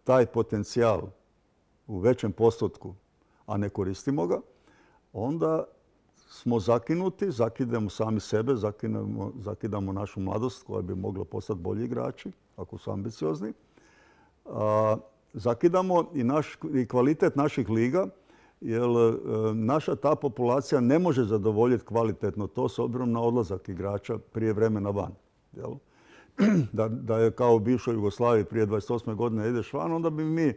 taj potencijal u većem postotku, a ne koristimo ga, onda smo zakinuti, zakidamo sami sebe, zakidamo, zakidamo našu mladost koja bi mogla postati bolji igrači, ako su ambiciozni. A, zakidamo i, naš, i kvalitet naših liga, jer e, naša ta populacija ne može zadovoljiti kvalitetno to s obzirom na odlazak igrača prije vremena van. Jel? Da, da je kao u bivšoj Jugoslaviji prije dvadeset osme godine ideš van, onda bi mi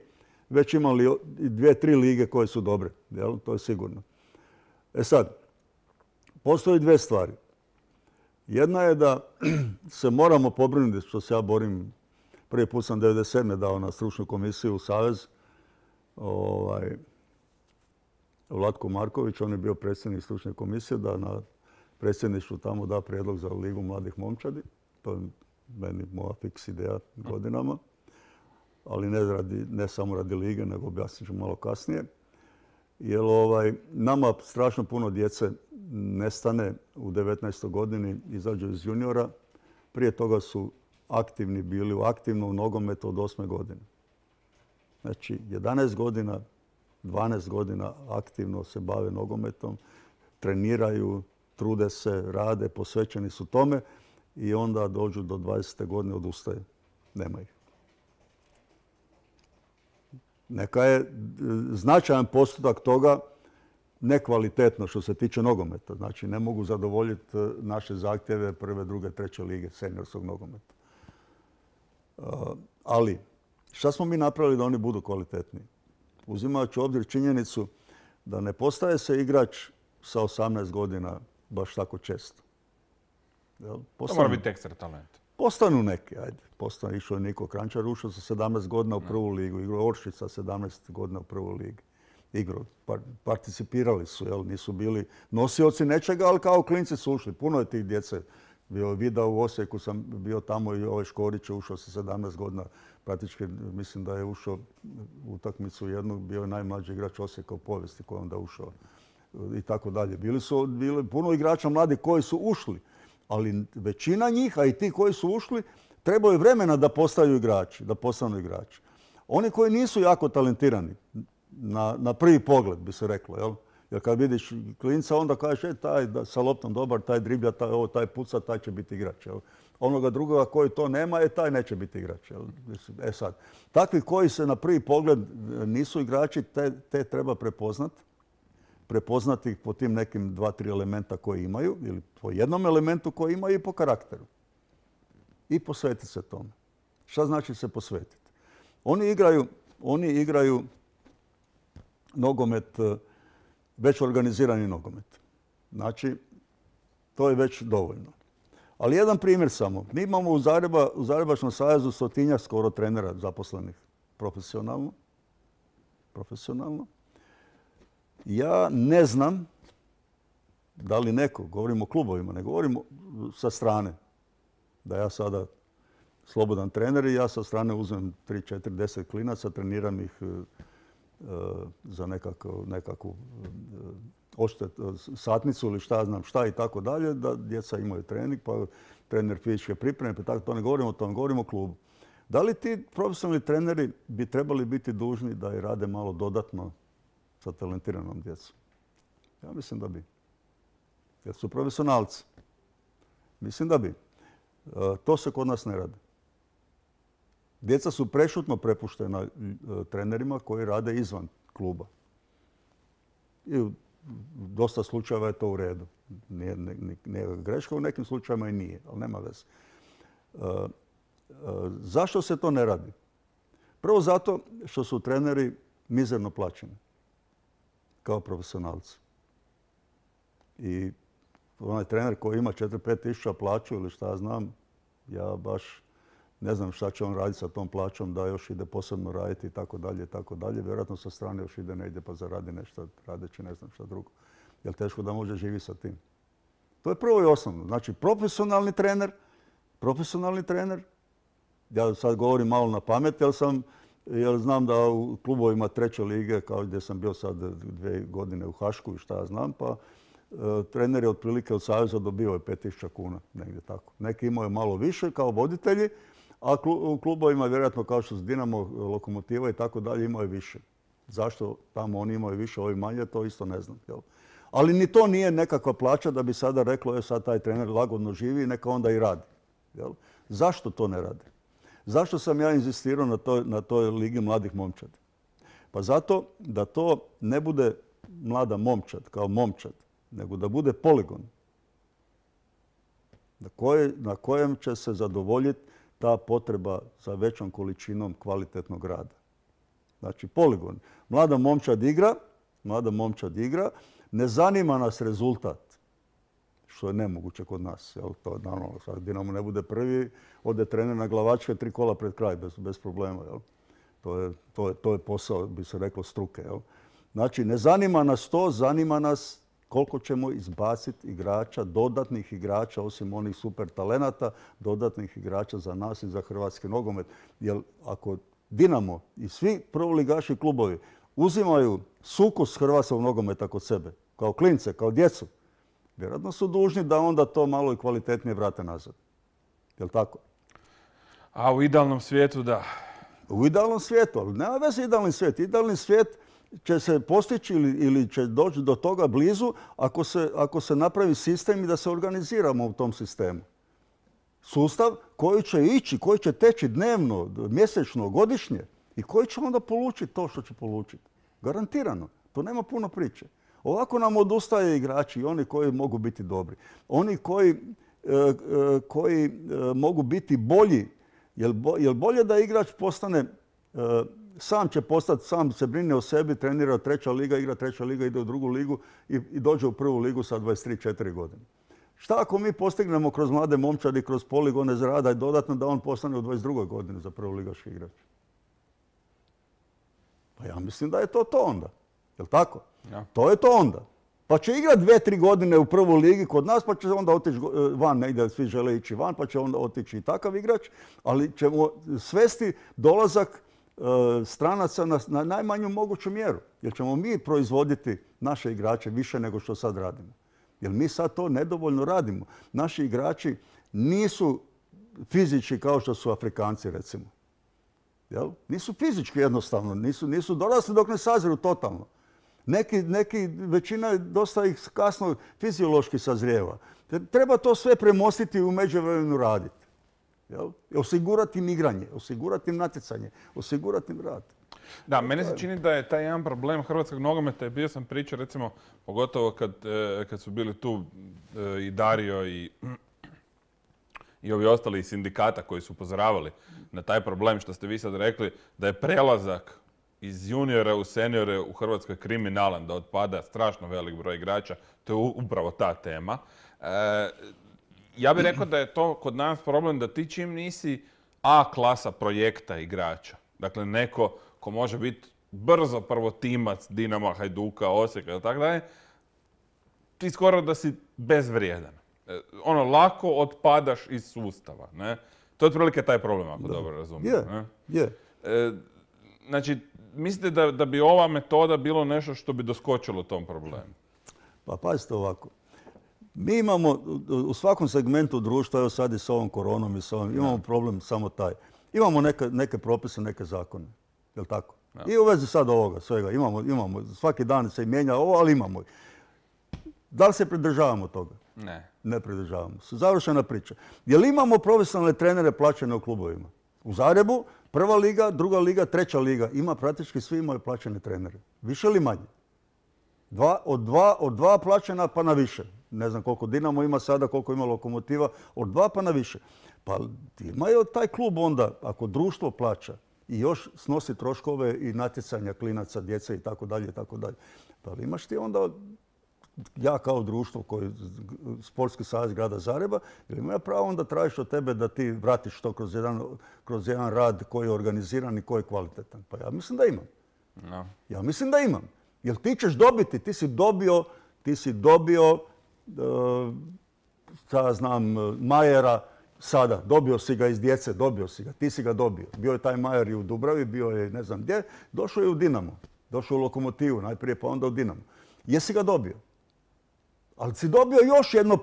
već imali dvije, tri lige koje su dobre. Jel? To je sigurno. E sad, postoji dvije stvari. Jedna je da se moramo pobrinuti, što se ja borim, prvi put sam devedeset sedme dao na stručnu komisiju u Savez, ovaj, Vlatko Marković, on je bio predsjednik stručne komisije, da na predsjedništvu tamo da prijedlog za Ligu mladih momčadi. To je meni moja fiks ideja godinama, ali ne, radi, ne samo radi lige, nego objasnit ću malo kasnije. Jer ovaj, nama strašno puno djece nestane u devetnaestoj godini, izađu iz juniora. Prije toga su aktivni bili u aktivnom nogometu od osme godine. Znači, jedanaest godina, dvanaest godina aktivno se bave nogometom, treniraju, trude se, rade, posvećeni su tome i onda dođu do dvadesete godine, odustaju. Nema ih. Neka je značajan postotak toga nekvalitetno što se tiče nogometa. Znači, ne mogu zadovoljiti naše zahtjeve prve, druge, treće lige seniorskog nogometa. Ali, šta smo mi napravili da oni budu kvalitetniji? Uzimajući u obzir činjenicu da ne postaje se igrač sa osamnaest godina baš tako često. Jel? To mora biti ekstra talent. Postanu neki, ajde. Postanu, išao je Niko Kranjčar, ušao sa sedamnaest godina u prvu ligu. Igrao Oršić sa sedamnaest godina u prvu ligu. Igrao, participirali su, jel? Nisu bili nosioci nečega, ali kao klinci su ušli. Puno je tih djece. Bio video u Osijeku, sam bio tamo i ovaj Škorić je ušao sa sedamnaest godina. Praktički mislim da je ušao u utakmicu jednu, bio je najmlađi igrač Osijeka u povijesti koji je onda ušao i tako dalje. Bili su bili puno igrača mladi koji su ušli, ali većina njih, a i ti koji su ušli, trebaju vremena da postaju igrači, da postanu igrači. Oni koji nisu jako talentirani, na, na prvi pogled bi se reklo, jel? Jer kad vidiš klinca, onda kažeš, e, taj da, sa loptom dobar, taj driblja, taj, ovo, taj puca, taj će biti igrač. Jel? Onoga drugoga koji to nema, e, taj neće biti igrač. Jel? E sad, takvi koji se na prvi pogled nisu igrači, te, te treba prepoznat. Prepoznati ih po tim nekim dva, tri elementa koji imaju, ili po jednom elementu koji imaju i po karakteru. I posvetiti se tome. Šta znači se posvetiti? Oni igraju, oni igraju nogomet, već organizirani nogomet. Znači, to je već dovoljno. Ali jedan primjer samo. Mi imamo u, Zagreba, u Zagrebačkom savezu stotinjak skoro trenera zaposlenih profesionalno. Profesionalno. Ja ne znam da li neko, govorim o klubovima, ne govorim sa strane, da ja sada slobodan trener i ja sa strane uzmem tri, četiri, deset klinaca, treniram ih za nekakvu, nekakvu odštet, satnicu ili šta znam šta i tako dalje, da djeca imaju trening, pa trener fizičke pripreme, pa tako to ne govorimo o tom, govorimo o klubu. Da li ti profesionalni treneri bi trebali biti dužni da i rade malo dodatno sa talentiranom djecom? Ja mislim da bi. Jer su profesionalci. Mislim da bi. To se kod nas ne radi. Djeca su prešutno prepuštena trenerima koji rade izvan kluba. I u dosta slučajeva je to u redu. Nije, nije greška, u nekim slučajevima i nije, ali nema veze. Zašto se to ne radi? Prvo zato što su treneri mizerno plaćeni kao profesionalci. I onaj trener koji ima četiri do pet tisuća plaću ili šta znam, ja baš ne znam šta će on raditi sa tom plaćom, da još ide posebno raditi i tako dalje i tako dalje. Vjerojatno sa strane još ide negdje pa zaradi nešto radeći ne znam šta drugo. Jer teško da može živjeti sa tim. To je prvo i osnovno. Znači profesionalni trener, profesionalni trener, ja sad govorim malo na pamet, jer sam, jer znam da u klubovima treće lige, kao gdje sam bio sad dvije godine u Hašku i šta ja znam, pa e, trener je otprilike od Saveza dobio pet tisuća kuna, negdje tako. Neki imaju malo više kao voditelji, a u klubovima vjerojatno kao što su Dinamo, Lokomotiva i tako dalje imaju više. Zašto tamo oni imaju više, ovi manje, to isto ne znam. Jel? Ali ni to nije nekakva plaća da bi sada reklo, je sad taj trener lagodno živi, neka onda i radi. Jel? Zašto to ne radi? Zašto sam ja inzistirao na toj, na toj ligi mladih momčadi? Pa zato da to ne bude mlada momčad kao momčad, nego da bude poligon na, koje, na kojem će se zadovoljiti ta potreba za većom količinom kvalitetnog rada. Znači poligon. Mlada momčad igra, mlada momčad igra, ne zanima nas rezultat, što je nemoguće kod nas. Jel? To, naravno, sad Dinamo ne bude prvi, ode trener na glavačke tri kola pred kraj, bez, bez problema. Jel? To, je, to, je, to je posao, bi se reklo, struke. Jel? Znači, ne zanima nas to, zanima nas koliko ćemo izbaciti igrača, dodatnih igrača, osim onih super talenata, dodatnih igrača za nas i za hrvatski nogomet. Jer ako Dinamo i svi prvoligaši klubovi uzimaju sukus hrvatskog nogometa kod sebe, kao klince, kao djecu, vjerojatno su dužni da onda to malo i kvalitetnije vrate nazad. Je li tako? A u idealnom svijetu da. U idealnom svijetu, ali nema veze idealni svijet. Idealni svijet će se postići ili, ili će doći do toga blizu ako se, ako se napravi sistem i da se organiziramo u tom sistemu. Sustav koji će ići, koji će teći dnevno, mjesečno, godišnje i koji će onda polučiti to što će polučiti. Garantirano. To nema puno priče. Ovako nam odustaje igrači i oni koji mogu biti dobri. Oni koji, e, koji e, mogu biti bolji. Jel, bo, jel bolje da igrač postane, e, sam će postati, sam se brine o sebi, trenira treća liga, igra treća liga, ide u drugu ligu i, i dođe u prvu ligu sa dvadeset tri četiri godine. Šta ako mi postignemo kroz mlade momčadi, kroz poligone za rada i dodatno da on postane u dvadeset drugoj godini za prvoligaški igrač? Pa ja mislim da je to to onda. Jel' tako? Ja. To je to onda. Pa će igrati dvije, tri godine u prvoj ligi kod nas, pa će onda otići van negdje, svi žele ići van, pa će onda otići i takav igrač, ali ćemo svesti dolazak e, stranaca na, na najmanju moguću mjeru. Jer ćemo mi proizvoditi naše igrače više nego što sad radimo. Jer mi sad to nedovoljno radimo. Naši igrači nisu fizički kao što su Afrikanci, recimo. Jel? Nisu fizički jednostavno, nisu, nisu dorasli dok ne saziru totalno. Neki, neki, većina dosta ih kasno fiziološki sazrijeva. Treba to sve premostiti i u međuvremenu raditi. Jel? Osigurati im igranje, osigurati im natjecanje, osigurati im rad. Da, meni se čini da je taj jedan problem hrvatskog nogometa, bio sam pričao recimo, pogotovo kad, kad su bili tu i Dario i, i ovi ostali iz sindikata koji su upozoravali na taj problem što ste vi sad rekli, da je prelazak iz juniora u seniore u Hrvatskoj kriminalan, da otpada strašno velik broj igrača. To je upravo ta tema. E, ja bih rekao da je to kod nas problem da ti čim nisi A klasa projekta igrača, dakle neko ko može biti brzo prvotimac Dinama, Hajduka, Osijeka i tako dalje, ti skoro da si bezvrijedan. E, ono, lako otpadaš iz sustava. Ne? To je otprilike taj problem, ako da. dobro razumijem. Je, ne? je. E, znači, mislite da, da bi ova metoda bilo nešto što bi doskočilo tom problemu? Pa pazite ovako. Mi imamo u svakom segmentu društva, evo sad i s ovom koronom i s ovom, imamo problem samo taj. Imamo neke, neke propise, neke zakone. Jel' tako? Ja. I u vezi sad ovoga svega. Imamo, imamo, svaki dan se mijenja ovo, ali imamo. Da li se pridržavamo toga? Ne. Ne pridržavamo se. Završena priča. Jel' imamo profesionalne trenere plaćene u klubovima? U Zagrebu prva liga, druga liga, treća liga. Ima praktički svi imaju plaćene trenere. Više ili manje? Dva, od, dva, od dva plaćena pa na više. Ne znam koliko Dinamo ima sada, koliko ima Lokomotiva. Od dva pa na više. Pa imaju taj klub onda, ako društvo plaća i još snosi troškove i natjecanja klinaca, djece i tako dalje i tako dalje. Pa imaš ti onda, ja kao društvo, koji, Sportski savez grada Zagreba, ili ima pravo onda tražiš od tebe da ti vratiš to kroz jedan, kroz jedan rad koji je organiziran i koji je kvalitetan? Pa ja mislim da imam. No. Ja mislim da imam. Jer ti ćeš dobiti, ti si dobio, ti si dobio, uh, ja znam, Majera sada, dobio si ga iz djece, dobio si ga, ti si ga dobio. Bio je taj Majer i u Dubravi, bio je ne znam gdje, došao je u Dinamo, došao u Lokomotivu, najprije pa onda u Dinamo. Jesi ga dobio? Ali si dobio još jedno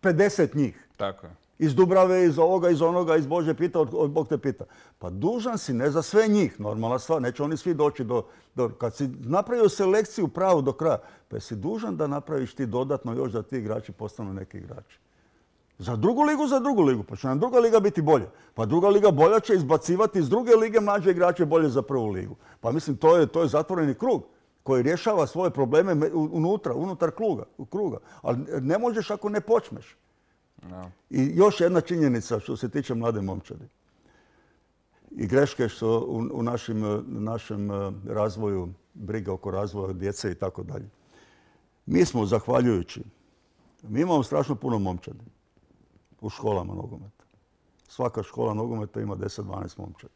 pedeset njih. Tako je. Iz Dubrave, iz ovoga, iz onoga, iz Bože pita, od, od Bog te pita. Pa dužan si, ne za sve njih, normalna stvar, neće oni svi doći do, do... Kad si napravio selekciju pravu do kraja, pa si dužan da napraviš ti dodatno još da ti igrači postanu neki igrači. Za drugu ligu, za drugu ligu. Pa će nam druga liga biti bolja. Pa druga liga bolja će izbacivati iz druge lige mlađe igrače bolje za prvu ligu. Pa mislim, to je, to je zatvoreni krug koji rješava svoje probleme unutra, unutar kruga, kruga. Ali ne možeš ako ne počneš. No. I još jedna činjenica što se tiče mlade momčadi. I greške što u, u našim, našem razvoju, briga oko razvoja djece i tako dalje. Mi smo, zahvaljujući, mi imamo strašno puno momčadi u školama nogometa. Svaka škola nogometa ima deset dvanaest momčadi.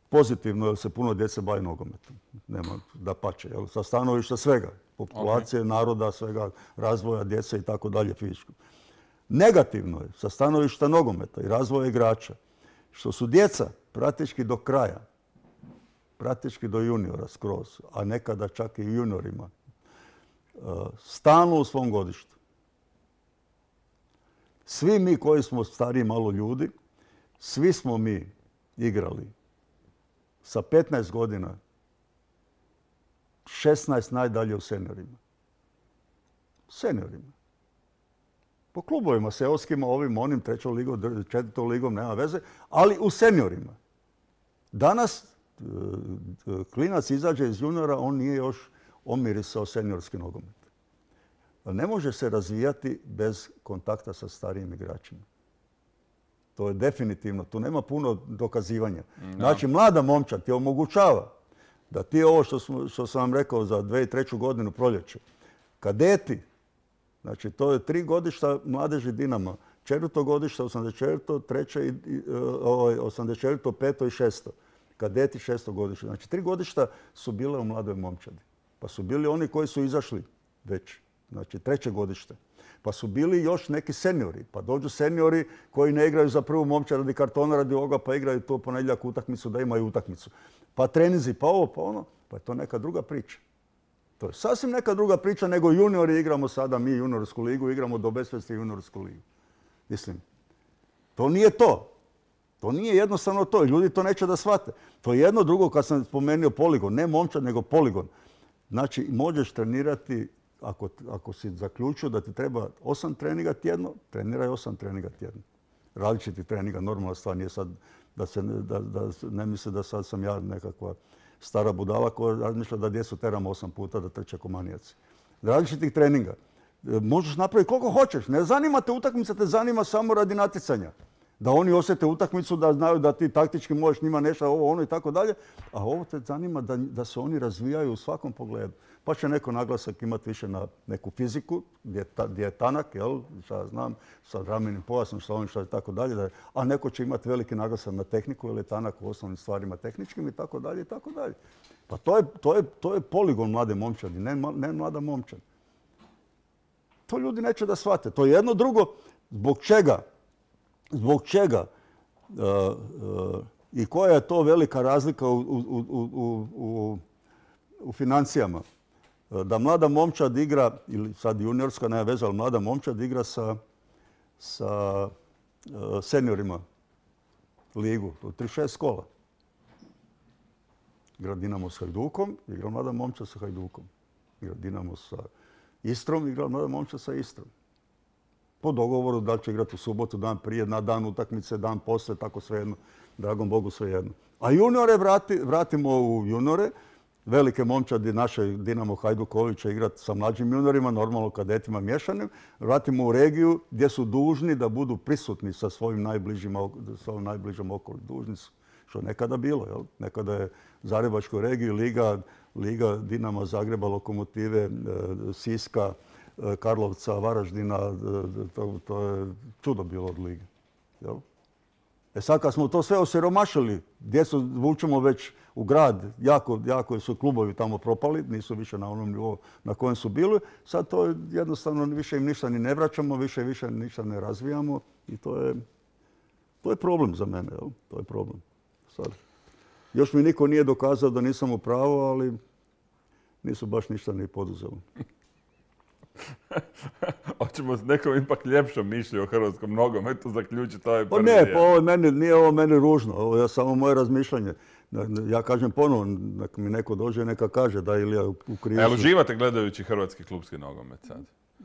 Pozitivno je se puno djece bavi nogometom. Nema da pače. Sa stanovišta svega. Populacije, okay. Naroda, svega, razvoja djece i tako dalje fizičko. Negativno je sa stanovišta nogometa i razvoja igrača što su djeca praktički do kraja, praktički do juniora skroz, a nekada čak i juniorima, stalno u svom godištu. Svi mi koji smo stariji malo ljudi, svi smo mi igrali sa petnaest godina, šesnaest najdalje u seniorima. Seniorima. Po klubovima, seoskima, ovim, onim, trećom ligom, četvrtom ligom, nema veze, ali u seniorima. Danas klinac izađe iz juniora, on nije još omirisao seniorski nogomet. Ne može se razvijati bez kontakta sa starijim igračima. To je definitivno, tu nema puno dokazivanja. No. Znači, mlada momčad ti omogućava da ti ovo što, smo, što sam vam rekao za dvije i treću godinu proljeće, kadeti, znači to je tri godišta mladeži Dinama, četvrto godišta, osamdeset četvrto, treće, i, osamdeset četvrto, peto i šesto. Kadeti šesto godišta. Znači, tri godišta su bile u mladoj momčadi. Pa su bili oni koji su izašli već, znači treće godište. Pa su bili još neki seniori. Pa dođu seniori koji ne igraju za prvu momčad radi kartona, radi ovoga, pa igraju to ponedjeljak utakmicu da imaju utakmicu. Pa trenizi, pa ovo, pa ono. Pa je to neka druga priča. To je sasvim neka druga priča nego juniori igramo sada, mi juniorsku ligu, igramo do besvesti juniorsku ligu. Mislim, to nije to. To nije jednostavno to. Ljudi to neće da shvate. To je jedno drugo, kad sam spomenuo poligon. Ne momčad, nego poligon. Znači, možeš trenirati, ako, ako si zaključio da ti treba osam treninga tjedno, treniraj osam treninga tjedno. Različiti treninga, normalna stvar, nije sad da se da, da ne misle da sad sam ja nekakva stara budala koja razmišlja da djecu teramo osam puta da trče ko manijaci. Različitih treninga. Možeš napraviti koliko hoćeš. Ne zanima te utakmica, te zanima samo radi natjecanja. Da oni osjete utakmicu, da znaju da ti taktički možeš njima nešto, ovo, ono i tako dalje. A ovo te zanima da, da se oni razvijaju u svakom pogledu. Pa će neko naglasak imati više na neku fiziku, gdje, ta, gdje je tanak, jel, šta znam, sa ramenim pojasom, sa ovim šta i tako dalje. A neko će imati veliki naglasak na tehniku, jer je tanak u osnovnim stvarima tehničkim i tako dalje i tako dalje. Pa to je, to je, to je poligon mlade momčadi, ne, ne mlada momčad. To ljudi neće da shvate. To je jedno drugo. Zbog čega? Zbog čega uh, uh, i koja je to velika razlika u, u, u, u, u financijama? Da mlada momčad igra, ili sad juniorska, nema veze, ali mlada momčad igra sa, sa uh, seniorima ligu, od trideset šest kola. Igra Dinamo s Hajdukom, igra mlada momčad sa Hajdukom. Igra Dinamo sa Istrom, igra mlada momčad sa Istrom. Po dogovoru da li će igrati u subotu, dan prije, na dan utakmice, dan poslije, tako svejedno. Dragom Bogu svejedno. A juniore vrati, vratimo u juniore. Velike momčadi naše Dinamo Hajduković će igrati sa mlađim juniorima, normalno kadetima miješanim. Vratimo u regiju gdje su dužni da budu prisutni sa svojim najbližim, svojim najbližim okolom. Dužni su, što je nekada bilo. Jel? Nekada je Zagrebačkoj regiji Liga, Liga Dinama Zagreba, Lokomotive, Siska, Karlovca, Varaždina, to, to je čudo bilo od lige. Jel? E sad kad smo to sve osiromašili, djecu vučemo već u grad, jako, jako su klubovi tamo propali, nisu više na onom nivou na kojem su bili, sad to jednostavno više im ništa ni ne vraćamo, više više ništa ne razvijamo i to je, to je problem za mene, jel? To je problem. Sad. Još mi niko nije dokazao da nisam u pravu, ali nisu baš ništa ni poduzeli. Hoćemo s nekom ipak ljepšom mišlju o hrvatskom nogometu zaključiti ovaj prvi Pa ne, dio. pa ovo meni, nije ovo meni ružno, ovo je samo moje razmišljanje. Ja kažem ponovno, neka mi neko dođe i neka kaže da ili ja u krivu. Jel uživate gledajući hrvatski klubski nogomet sad?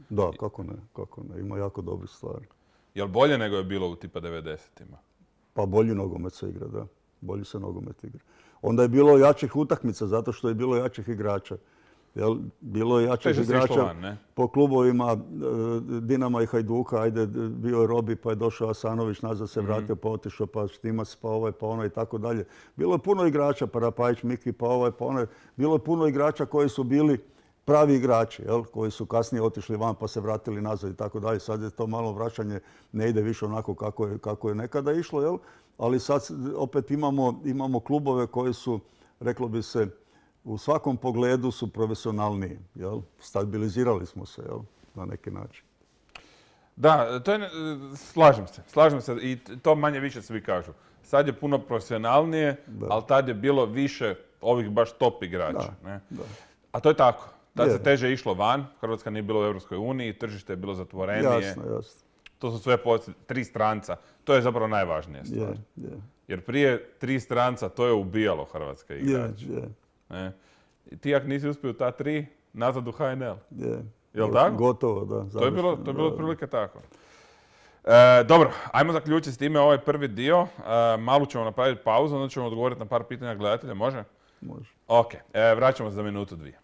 Da, kako ne, kako ne, ima jako dobrih stvari. Jel bolje nego je bilo u tipa devedesetima? Pa bolji nogomet se igra, da. Bolji se nogomet igra. Onda je bilo jačih utakmica zato što je bilo jačih igrača. Jel, bilo je jačih igrača van, po klubovima Dinama i Hajduka. Ajde, bio je Robi, pa je došao Asanović, nazad se vratio, pa otišao, pa Štimac, pa ovaj, pa onaj i tako dalje. Bilo je puno igrača, pa Rapajić, Miki, pa ovaj, pa onaj. Bilo je puno igrača koji su bili pravi igrači, jel, koji su kasnije otišli van pa se vratili nazad i tako dalje. Sad je to malo vraćanje, ne ide više onako kako je, kako je nekada išlo, jel? Ali sad opet imamo, imamo klubove koji su, reklo bi se, u svakom pogledu su profesionalniji. Jel? Stabilizirali smo se, jel? Na neki način. Da, to je, slažem se. Slažem se i to manje više svi kažu. Sad je puno profesionalnije, da. Ali tad je bilo više ovih baš top igrača. Da, ne? da. A to je tako. Tad je. se teže išlo van. Hrvatska nije bila u Europskoj uniji, tržište je bilo zatvorenije. Jasno, jasno. To su sve poslije, tri stranca. To je zapravo najvažnija stvar. Je, je. Jer prije tri stranca to je ubijalo hrvatske igrače. Je, je. Ne? I ti ako nisi uspio ta tri, nazad u H N L. Je. Jel tako? Gotovo, da. To je bilo, to je bilo otprilike tako. E, dobro, ajmo zaključiti s time ovaj prvi dio. E, malo ćemo napraviti pauzu, onda ćemo odgovoriti na par pitanja gledatelja. Može? Može. Ok, e, vraćamo se za minutu dvije.